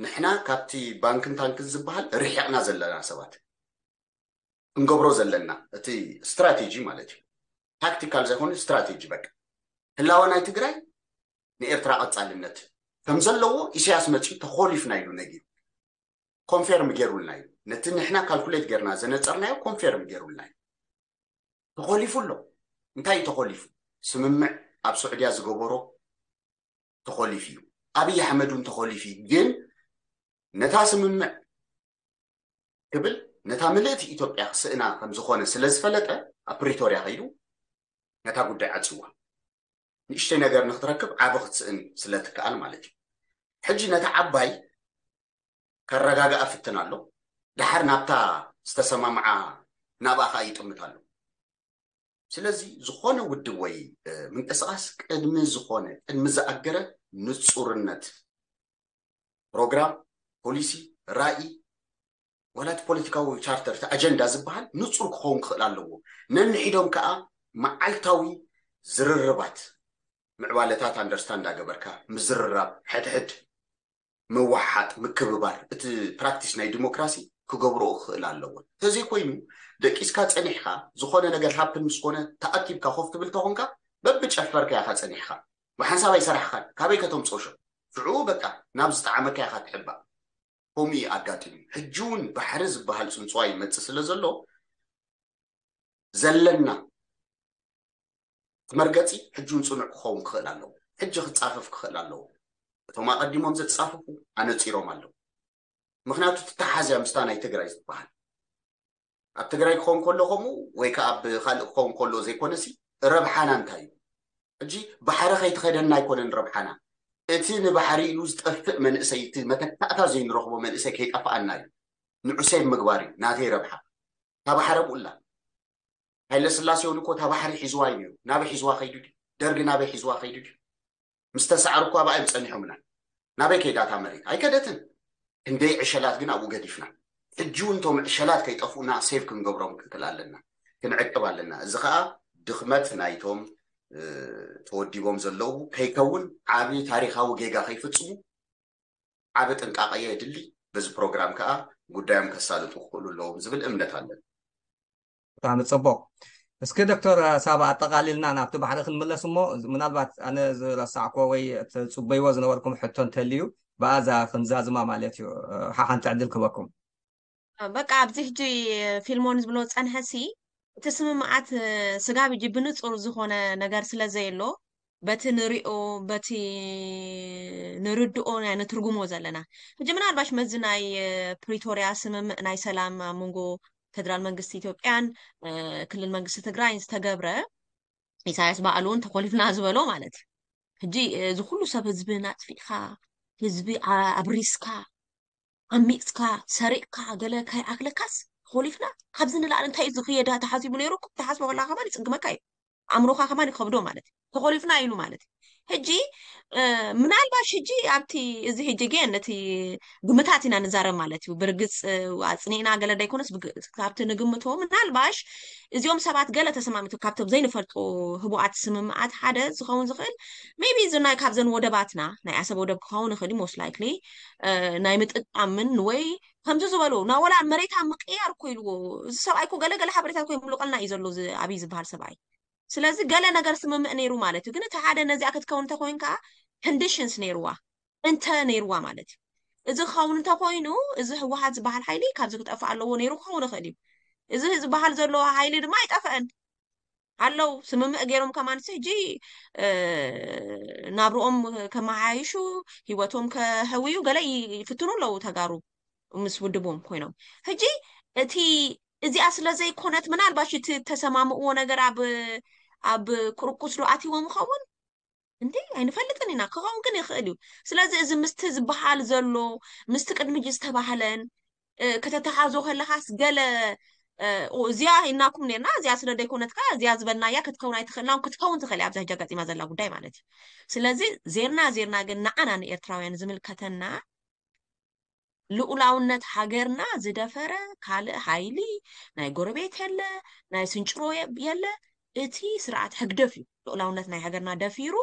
ንሕና ካብቲ ባንክን ታንክን ዝበሃል ርሒቕና ዘለና ሰባት ክንገብሮ ዘለና እቲ ስትራቴጂ ማለት እዩ ታክቲካል ዘይኮነ ስትራቴጂ በቃ ህላወ ናይ ትግራይ ንኤርትራ ቀፃልነት ከም ዘለዎ ኢሳያስ መፂኡ ተኾሊፍና ኢሉ ነጊሩ ኮንፌርም ገይሩልና እዩ ነቲ ንሕና ካልኩሌት ገይርና ዘነፀርናዮ ኮንፌርም ገይሩልና እዩ ተኾሊፉ ኣሎ እንታይ እዩ ተኾሊፉ ስምምዕ ኣብ ስዑድያ ዝገበሮ ተኾሊፉ እዩ ኣብይ ኣሕመድ እውን ተኾሊፉ እዩ ግን ነታ ስምምዕ ክብል ነታ ምልእቲ ኢትዮጵያ ክስእና ከም ዝኾነ ስለ ዝፈለጠ ኣብ ፕሪቶርያ ከይዱ ነታ ጉዳይ ዓፅዋ ንእሽተይ ነገር ንክትረክብ ዓቢ ክትስእን ስለ ትከኣል ማለት እዩ ሕጂ ነታ ዓባይ ከረጋግኣ ፍትን ኣሎ ደሓር ናብታ ዝተሰማምዓ ናብኣ ከዓ ይጥምት ኣሎ። ስለዚ ዝኾነ ውድብ ወይ ምንቅስቃስ ቅድሚ ዝኾነ ቅድሚ ዝኣገረ ንፁርነት ፕሮግራም፣ ፖሊሲ፣ ራእይ፣ ዋላ እቲ ፖለቲካዊ ቻርተር እቲ ኣጀንዳ ዝበሃል ንፁር ክኸውን ክኽእል ኣለዎ። ነንሒዶም ከዓ መዓልታዊ ዝርርባት ምዕባለታት ኣንደርስታንድ እንዳገበርካ ምዝርራብ፣ ሕድሕድ ምውሓጥ፣ ምክብባር፣ እቲ ፕራክቲስ ናይ ዲሞክራሲ ክገብርኦ ክኽእል ኣለዎ። እንተዘይኮይኑ ደቂስካ ፀኒሕካ ዝኾነ ነገር ሃፕን ምስ ኮነ ተኣኪብካ ኮፍ ትብል ተኾንካ በብጨፈርካ ኢኻ ፀኒሕካ ብሓንሳብ ኣይሰራሕኻን። ካበይ ከተምፅኦ ሽዑ? ሽዑ በቃ ናብ ዝጠዓመካ ኢኻ ትሕባእ። ከምኡ እዩ ኣጋጢሙ። ሕጂ እውን ባሕሪ ዝበሃል ፅንፅዋ ይመፅእ ስለ ዘሎ ዘለና እቲ መርገፂ ሕጂ እውን ፅኑዕ ክኸውን ክኽእል ኣለዎ። ሕጂ ክፃፈፍ ክኽእል ኣለዎ። እቶም ኣቐዲሞም ዘፃፈፉ ኣነፂሮም ኣለዉ። ምክንያቱ ትተሓዝያ ምስታ ናይ ትግራይ ዝበሃል ኣብ ትግራይ ክኸውን ከሎ ከምኡ ወይ ከዓ ኣብ ካልእ ክኸውን ከሎ ዘይኮነሲ ረብሓና እንታይ እዩ? ሕጂ ባሕሪ ከይትኸደና ኣይኮነን ረብሓና። እቲ ንባሕሪ ኢሉ ዝጠፍእ መንእሰይ፣ እቲ መተካእታ ዘይንረኽቦ መንእሰይ ከይጠፍኣና እዩ። ንዑ ሴቭ ምግባር እዩ ናተይ ረብሓ። እታ ባሕሪ ኣብኡላ። ሃይለ ስላሴ እውን እኮ እታ ባሕሪ ሒዝዋ እዩ ነይሩ። ናበይ ሒዝዋ ከይዱ ድዩ? ደርጊ ናበይ ሒዝዋ ከይዱ ድዩ? ምስ ተሳዕሩ እኮ ኣብኣ እዮም ጸኒሖምና። ናበይ ከይዳ እታ መሬት? ኣይከደትን። ክንደይ ዕሸላት ግን ኣብኡ ገዲፍና። ሕጂ እውን እቶም ዕሸላት ከይጠፍኡና ሴቭ ክንገብሮም ክንክእል ኣለና። ክንዕቅብ ኣለና። እዚ ኸኣ ድኽመት ናይቶም እ፣ ተወዲቦም ዘለዉ ከይከውን ዓቢ ታሪኻዊ ጌጋ ከይፍጽሙ ዓቢ ጥንቃቐ የድሊ። በዚ ፕሮግራም ከኣ ጉዳዮም ከሳልጡ ክኽእሉ ኣለዎም ዝብል እምነት ኣለኒ። ብጣዕሚ ጽቡቕ። እስኪ ዶክተር ሳባ ኣጠቓሊልና ናብቲ ባሕሪ ክንምለስ እሞ ምናልባት ኣነ ዝረሳዕክዎ ወይ ትጽበይዎ ዝነበርኩም ሕቶ እንተልዩ ብኣዛ ክንዛዝማ ማለት እዩ። ሓሓንቲ ዕድል ክበኩም። በቃ ኣብዚ ሕጂ ፊልሞን ዝብሎ ጸንሐሲ እቲ ስምምዓት ስጋብ ሕጂ ብንጹር ዝኾነ ነገር ስለ ዘየሎ በቲ ንሪኦ በቲ ንርድኦ ናይ ንትርጉሞ ዘለና ሕጂ ምናልባሽ መዚ ናይ ፕሪቶርያ ስምምዕ ናይ ሰላም ኣብ መንጎ ፌደራል መንግስቲ ኢትዮጵያን ክልል መንግስቲ ትግራይን ዝተገብረ ኢሳያስ ባዕሉ እውን ተኮሊፍና ዝበሎ ማለት እዩ። ሕጂ እዚ ኩሉ ሰብ ህዝብን ኣጥፊእካ ህዝቢ ኣብሪስካ ዓሚፅካ ሰሪቕካ ገለ ካይኣክለካስ ተኾሊፍና ካብዚ ንላዕሊ እንታይ እዩ ዝኽየዳ ተሓሲቡ ነይሩ እኮ ትሓስቦ ከለካ ከማን ይፅግመካ እዩ ኣእምሮካ ከማን ይከብዶ ማለት እዩ ተኾሊፍና ኢሉ ማለት እዩ ሕጂ ምናልባሽ ሕጂ ኣብቲ እዚ ሕጂ ግን ነቲ ግምታት ኢና ንዛረብ ማለት እዩ ብርግፅ ኣፅኒዕና ገለ ዳይኮነስ ካብቲ ንግምቶ ምናልባሽ እዚኦም ሰባት ገለ ተሰማሚቱ ካብቶም ዘይንፈልጦ ህቡኣት ስምምዓት ሓደ ዝኸውን ዝኽእል maybe እዚ ናይ ካብዘን ወደባትና ናይ ዓሰብ ወደብ ክኸውን ይኽእል most likely ናይ ምጥቃምን ወይ ከምዚ ዝበሉ ናወላ መሬታ ምቅያር እኮ ኢልዎ እዚ ሰብኣይ እኮ ገለ ገለ ሓበሬታ እኮ ይምልቀልና እዩ ዘሎ ኣብዚ ዝበሃል ሰብኣይ ስለዚ ገለ ነገር ስምምዕ ነይሩ ማለት እዩ ግን እቲ ሓደ ነዚኣ ክትከውን እንተኮይን ከዓ conditions ነይርዋ እንተ ነይርዋ ማለት እዩ እዚ ክኸውን እንተኮይኑ እዚ ህወሓት ዝበሃል ሓይሊ ካብዚ ክጠፍእ ኣለዎ ነይሩ ክኸውን ይኽእል እዩ እዚ ዝበሃል ዘሎ ሓይሊ ድማ ኣይጠፍአን ኣለው ስምምዕ ገይሮም ከማን ሕጂ ናብርኦም ከመሓይሹ ህይወቶም ከህውዩ ገለ ይፍትኑ ኣለው ተጋሩ ምስ ውድቦም ኮይኖም ሕጂ እቲ እዚኣ ስለ ዘይኮነት ምናልባሽ እቲ ተሰማምእዎ ነገር ኣብ ኣብ ቁርቁስ ዶ ኣትዎም ይኸውን እንዴ ኣይንፈልጥን ኢና ክኸውን ግን ይኽእል እዩ ስለዚ እዚ ምስቲ ዝበሃል ዘሎ ምስቲ ቅድሚ ሕጂ ዝተባህለን ከተተሓዞ ከለኻስ ገለ እዚኣ ኢልናኩም ነርና እዚኣ ስለ ዘይኮነትካ እዚኣ ዝበልናያ ክትከውን ኣይትኽእልና ክትከውን ትኽእል እያ ኣብዛ ሕጂ ኣጋጢማ ዘላ ጉዳይ ማለት እዩ ስለዚ ዜርና ዜርና ግን ንዓና ንኤርትራውያን ዝምልከተና ልኡላውነት ሃገርና ዝደፈረ ካልእ ሃይሊ ናይ ጎረቤት የለ ናይ ስንጭሮ የለ እቲ ስርዓት ሕግደፍ እዩ ልኡላውነት ናይ ሃገርና ደፊሩ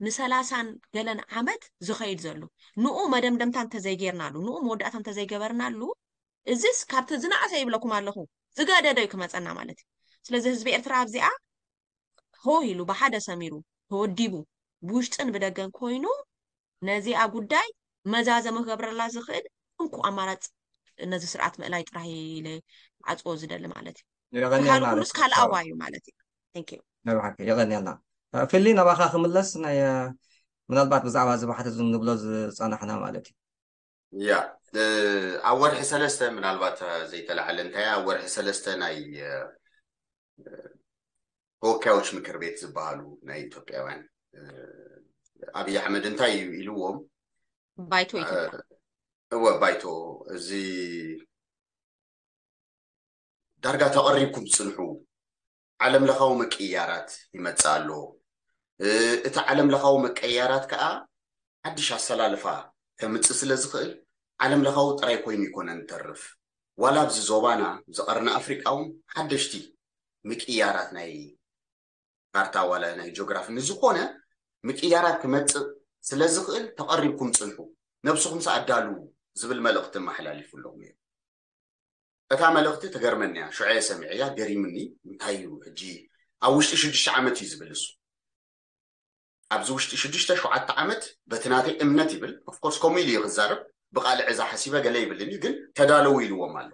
ንሰላሳን ገለን ዓመት ዝኸይድ ዘሎ ንኡ መደምደምታ እንተዘይጌርናሉ ንኡ መወዳእታ እንተዘይገበርናሉ እዚስ ካብቲ ዝነኣሰ ይብለኩም ኣለኹ ዝገደደ እዩ ክመፀና ማለት እዩ ስለዚ ህዝቢ ኤርትራ ኣብዚኣ ሆ ኢሉ ብሓደ ሰሚሩ ተወዲቡ ብውሽጥን ብደገን ኮይኑ ነዚኣ ጉዳይ መዛዘሚ ክገብረላ ዝኽእል እንኩ ኣማራፅ ነዚ ስርዓት ምእላይ ጥራይ ኢለ ዓፅዎ ዝደሊ ማለት እዩ የቐንየልና ካልእ ኩሉስ ካልኣዋ እዩ ማለት እዩ Thank you። ናይ ብሓቂ የቐንየልና ፊሊ ናባኻ ክምለስ ናይ ምናልባት ብዛዕባ እዚ ባሕሪ እዚ ንብሎ ዝፀናሕና ማለት እዩ ያ ኣብ ወርሒ ሰለስተ ምናልባት ዘይተላዓለ እንታይ ኣብ ወርሒ ሰለስተ ናይ ተወካዮች ምክር ቤት ዝበሃሉ ናይ ኢትዮጵያውያን ኣብይ ኣሕመድ እንታይ እዩ ኢልዎም ባይቶ ኢትዮጵያ እወ ባይቶ እዚ ዳርጋ ተቐሪብኩም ትጽንሑ። ዓለም ለኻዊ ምቅይያራት ይመጽእ ኣሎ። እቲ ዓለም ለኻዊ ምቅይያራት ከዓ ሓድሽ ኣሰላልፋ ከምጽእ ስለ ዝኽእል ዓለም ለኻዊ ጥራይ ኮይኑ ይኮነን ተርፍ። ዋላ ኣብዚ ዞባና፣ እዚ ቀርኒ ኣፍሪቃ እውን ሓደሽቲ ምቅይያራት ናይ ካርታ ዋላ ናይ ጂኦግራፊ ንዝኾነ ምቅያራት ክመጽእ ስለ ዝኽእል ተቐሪብኩም ጽንሑ፣ ነብስኹም ኣዳልዉ ዝብል መልእኽቲ መሓላሊፉሎም እዩ። እታ መልእኽቲ ትገርመኒ እያ። ሽዑ እየ ሰሚዐያ፣ ገሪምኒ። እንታይ እዩ ሕጂ ኣብ ውሽጢ ሽዱሽተ ዓመት እዩ ዝብል እሱ። ኣብዚ ውሽጢ ሽዱሽተ ሸውዓተ ዓመት በቲ ናተይ እምነት ይብል። ኦፍኮርስ ከምኡ ኢሉ እዩ ክዛረብ። ብቓልዕ እዛ ሓሲበ ገለ ይብልኒ፣ ግን ተዳለዉ ኢልዎም ኣሎ።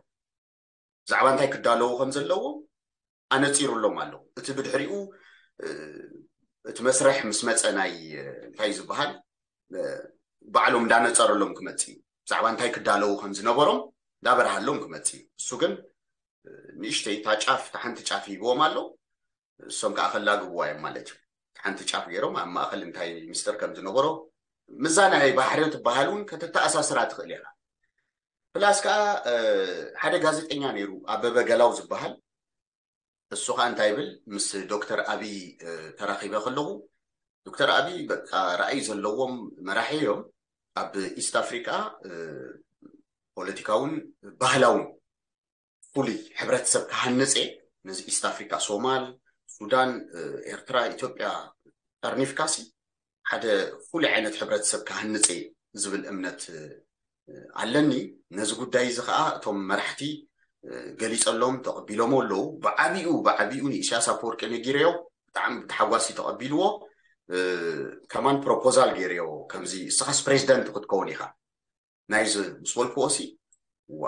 ብዛዕባ እንታይ ክዳለዉ ከም ዘለዎም ኣነጺሩሎም ኣሎ። እቲ ብድሕሪኡ እቲ መስርሕ ምስ መጸ ናይ እንታይ ዝበሃል ባዕሎም እንዳነጸረሎም ክመጽእ እዩ። ብዛዕባ እንታይ ክዳለዉ ከም ዝነበሮም እንዳበርሃሎም ክመጽእ እዩ። እሱ ግን ንእሽተይ እታ ጫፍ፣ እታ ሓንቲ ጫፍ ሂብዎም ኣሎ። እሶም ከዓ ከላግብዋ እዮም ማለት እዩ። እታ ሓንቲ ጫፍ ገይሮም ኣብ ማእኸል እንታይ ሚስጥር ከም ዝነበሮ ምዛ ናይ ባሕሪ ትበሃል እውን ከተተኣሳስራ ትኽእል ኢኻ። ፕላስ ከዓ ሓደ ጋዜጠኛ ነይሩ፣ ኣበበ ገላው ዝበሃል። እሱ ከዓ እንታይ ይብል፣ ምስ ዶክተር ኣብይ ተራኺበ ከለኹ፣ ዶክተር ኣብይ በቃ ራእይ ዘለዎም መራሒ እዮም። ኣብ ኢስት ኣፍሪካ ፖለቲካውን ባህላውን ፍሉይ ሕብረተሰብ ክሃንፀ፣ ነዚ ኢስት ኣፍሪካ፣ ሶማል፣ ሱዳን፣ ኤርትራ፣ ኢትዮጵያ ጠርኒፍካሲ ሓደ ፍሉይ ዓይነት ሕብረተሰብ ክሃንፀ ዝብል እምነት ኣለኒ። ነዚ ጉዳይ እዚ ከዓ እቶም መራሕቲ ገሊፀሎም ተቐቢሎም ኣለዉ። ብዓቢኡ ብዓቢኡ ንኢሳያስ ኣፈወርቂ ነጊረዮ፣ ብጣዕሚ ብተሓጓሲ ተቐቢልዎ። ከማን ፕሮፖዛል ገይረዮ፣ ከምዚ እስኻስ ፕሬዚደንት ክትከውን ኢኻ ናይዚ ምስ በልክዎ ሲ ዋ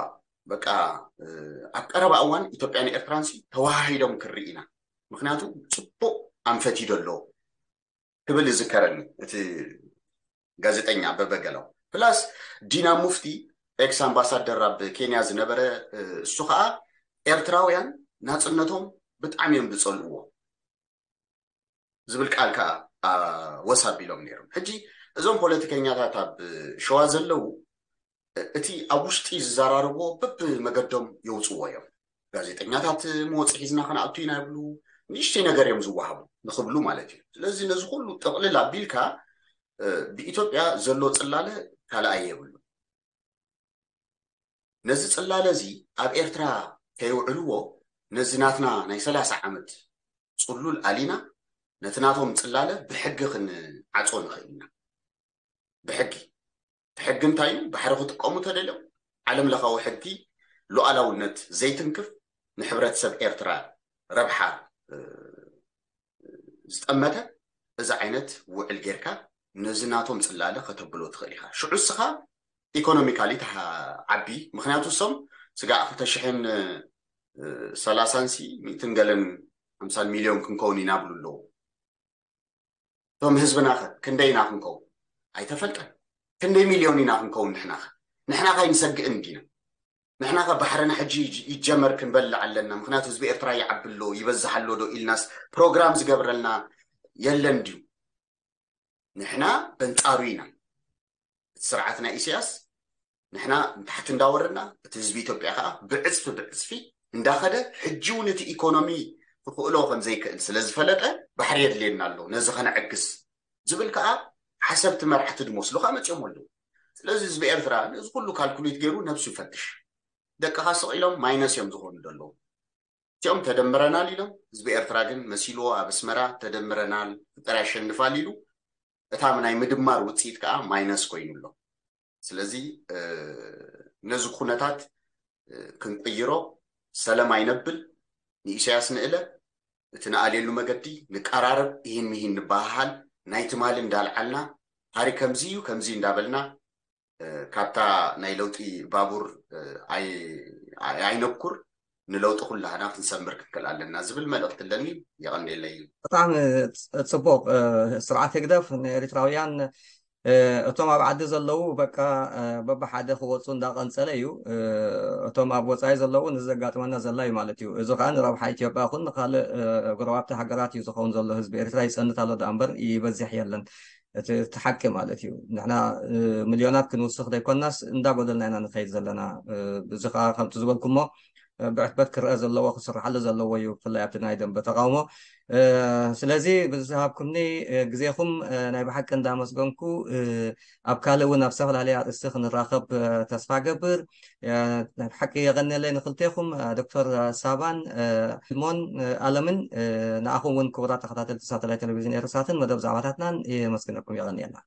በቃ ኣብ ቀረባ እዋን ኢትዮጵያን ኤርትራን ሲ ተዋሃሂዶም ክርኢ ኢና፣ ምክንያቱ ጽቡቕ ኣንፈት ይዶ ኣሎ ክብል ይዝከረኒ እቲ ጋዜጠኛ ኣበበ ገላው። ፕላስ ዲና ሙፍቲ ኤክስ ኣምባሳደር ኣብ ኬንያ ዝነበረ እሱ ከዓ ኤርትራውያን ናጽነቶም ብጣዕሚ እዮም ዝጸልእዎ ዝብል ቃል ከዓ ወስ ኣቢሎም ነይሮም። ሕጂ እዞም ፖለቲከኛታት ኣብ ሸዋ ዘለዉ እቲ ኣብ ውሽጢ ዝዘራረብዎ በብመገዶም የውፅዎ እዮም። ጋዜጠኛታት መወፂ ሒዝና ከነኣቱ ኢና ይብሉ። ንእሽተይ ነገር እዮም ዝወሃቡ ንክብሉ ማለት እዩ። ስለዚ ነዚ ኩሉ ጥቕልል ኣቢልካ ብኢትዮጵያ ዘሎ ፅላለ ካልኣይ የብሉ። ነዚ ፅላለ እዚ ኣብ ኤርትራ ከየውዕልዎ ነዚ ናትና ናይ ሰላሳ ዓመት ፅሉል ኣሊና ነቲ ናቶም ፅላለ ብሕጊ ክንዓፆ ንኽእል ኢና። ብሕጊ። እቲ ሕጊ እንታይ እዩ? ባሕሪ ክጥቀሙ ተደልዮም ዓለም ለኻዊ ሕጊ ሉዓላውነት ዘይትንክፍ፣ ንሕብረተሰብ ኤርትራ ረብሓ ዝጠመተ እዚ ዓይነት ውዕል ጌርካ ነዚ ናቶም ፅላለ ከተብሎ ትኽእል ኢኻ። ሽዑ እስኻ ኢኮኖሚካሊ ትዓቢ። ምክንያቱ እሶም ስጋዕ ክልተ ሽሕን ሰላሳን ሲ ሚእትን ገለን ሓምሳን ሚልዮን ክንከውን ኢና ብሉ ኣለዉ። እቶም ህዝብና ከ ክንደይ ኢና ክንከውን? ኣይተፈልጠን። ክንደይ ሚልዮን ኢና ክንከውን ንሕና ከ? ንሕና ከ ኣይንሰግእን ዲና? ንሕና ከ ባሕርና ሕጂ ይጀመር ክንበልዕ ኣለና? ምክንያቱ ህዝቢ ኤርትራ ይዓቢ ኣሎ፣ ይበዝሕ ኣሎ ዶ ኢልናስ ፕሮግራም ዝገብረልና የለን ድዩ? ንሕና በንጻሩ ኢና። እቲ ስርዓት ናይ ኢሳያስ ንሕና ንታሕቲ እንዳወረድና፣ እቲ ህዝቢ ኢትዮጵያ ከዓ ብዕፅፊ ብዕፅፊ እንዳኸደ፣ ሕጂ እውን እቲ ኢኮኖሚ ክኽእሎ ከም ዘይክእል ስለ ዝፈለጠ ባሕሪ የድልየና ኣሎ ነዚ ከነዕግስ ዝብል ከዓ ሓሰብቲ መራሕቲ ዝመስሉ ከዓ መፅኦም ኣለዉ። ስለዚ ህዝቢ ኤርትራ ነዚ ኩሉ ካልኩሌት ገይሩ ነብሱ ይፈትሽ። ደቅኻ ስቕ ኢሎም ማይነስ እዮም ዝኾኑ ዘለዉ። እቲኦም ተደምረናል ኢሎም፣ ህዝቢ ኤርትራ ግን መሲልዎ ኣብ ኣስመራ ተደምረናል ፍቅር ያሸንፋል ኢሉ፣ እታ ናይ ምድማር ውፅኢት ከዓ ማይነስ ኮይኑ ኣሎ። ስለዚ ነዚ ኩነታት ክንቅይሮ ሰለም ኣይነብል፣ ንኢሳያስ ንእለ፣ እቲ ንኣልየሉ መገዲ ንቀራረብ፣ ኢሂን ሚሂን ንበሃሃል፣ ናይ ትማሊ እንዳልዓልና ታሪክ ከምዚ እዩ ከምዚ እንዳበልና ካብታ ናይ ለውጢ ባቡር ኣይነብኩር፣ ንለውጢ ኩላህና ክንሰምር ክንክእል ኣለና ዝብል መልእኽቲ ኣለኒ። የቐንየለይ። ብጣዕሚ ጽቡቕ። ስርዓት ህግደፍ ንኤሪትራውያን እቶም ኣብ ዓዲ ዘለዉ በቃ በብሓደ ክወፁ እንዳቐንፀለ እዩ። እቶም ኣብ ወፃኢ ዘለዉ ንዘጋጥመና ዘላ እዩ ማለት እዩ። እዚ ከዓ ንረብሓ ኢትዮጵያ ይኹን ንካልእ ጎረባብቲ ሃገራት እዩ ዝኸውን ዘሎ። ህዝቢ ኤርትራ ይፀንት ኣሎ ደኣ እምበር ይበዝሕ የለን። እቲ ሓቂ ማለት እዩ። ንሕና ሚልዮናት ክንውስኽ ዘይኮናስ እንዳጎደልና ኢና ንኸይድ ዘለና። እዚ ከዓ ከምቲ ዝበልኩሞ ብዕትበት ክረአ ዘለዎ ክስርሓሉ ዘለዎ እዩ፣ ብፍላይ ኣብቲ ናይ ደንበ ተቃውሞ። ስለዚ ብዝሃብኩምኒ ግዜኹም ናይ ብሓቂ እንዳመስገንኩ፣ ኣብ ካልእ እውን ኣብ ዝተፈላለየ ኣርእስቲ ክንራኸብ ተስፋ ገብር። ናይ ብሓቂ የቐንየለይ ንክልቴኹም፣ ዶክተር ሳባን ሞን ኣለምን። ንኣኹም እውን ክቡራት ተኸታተልቲ ሳተላይት ቴሌቪዥን ኤርሳትን መደብ ዛዕባታትናን የመስግነኩም፣ የቐንየልና።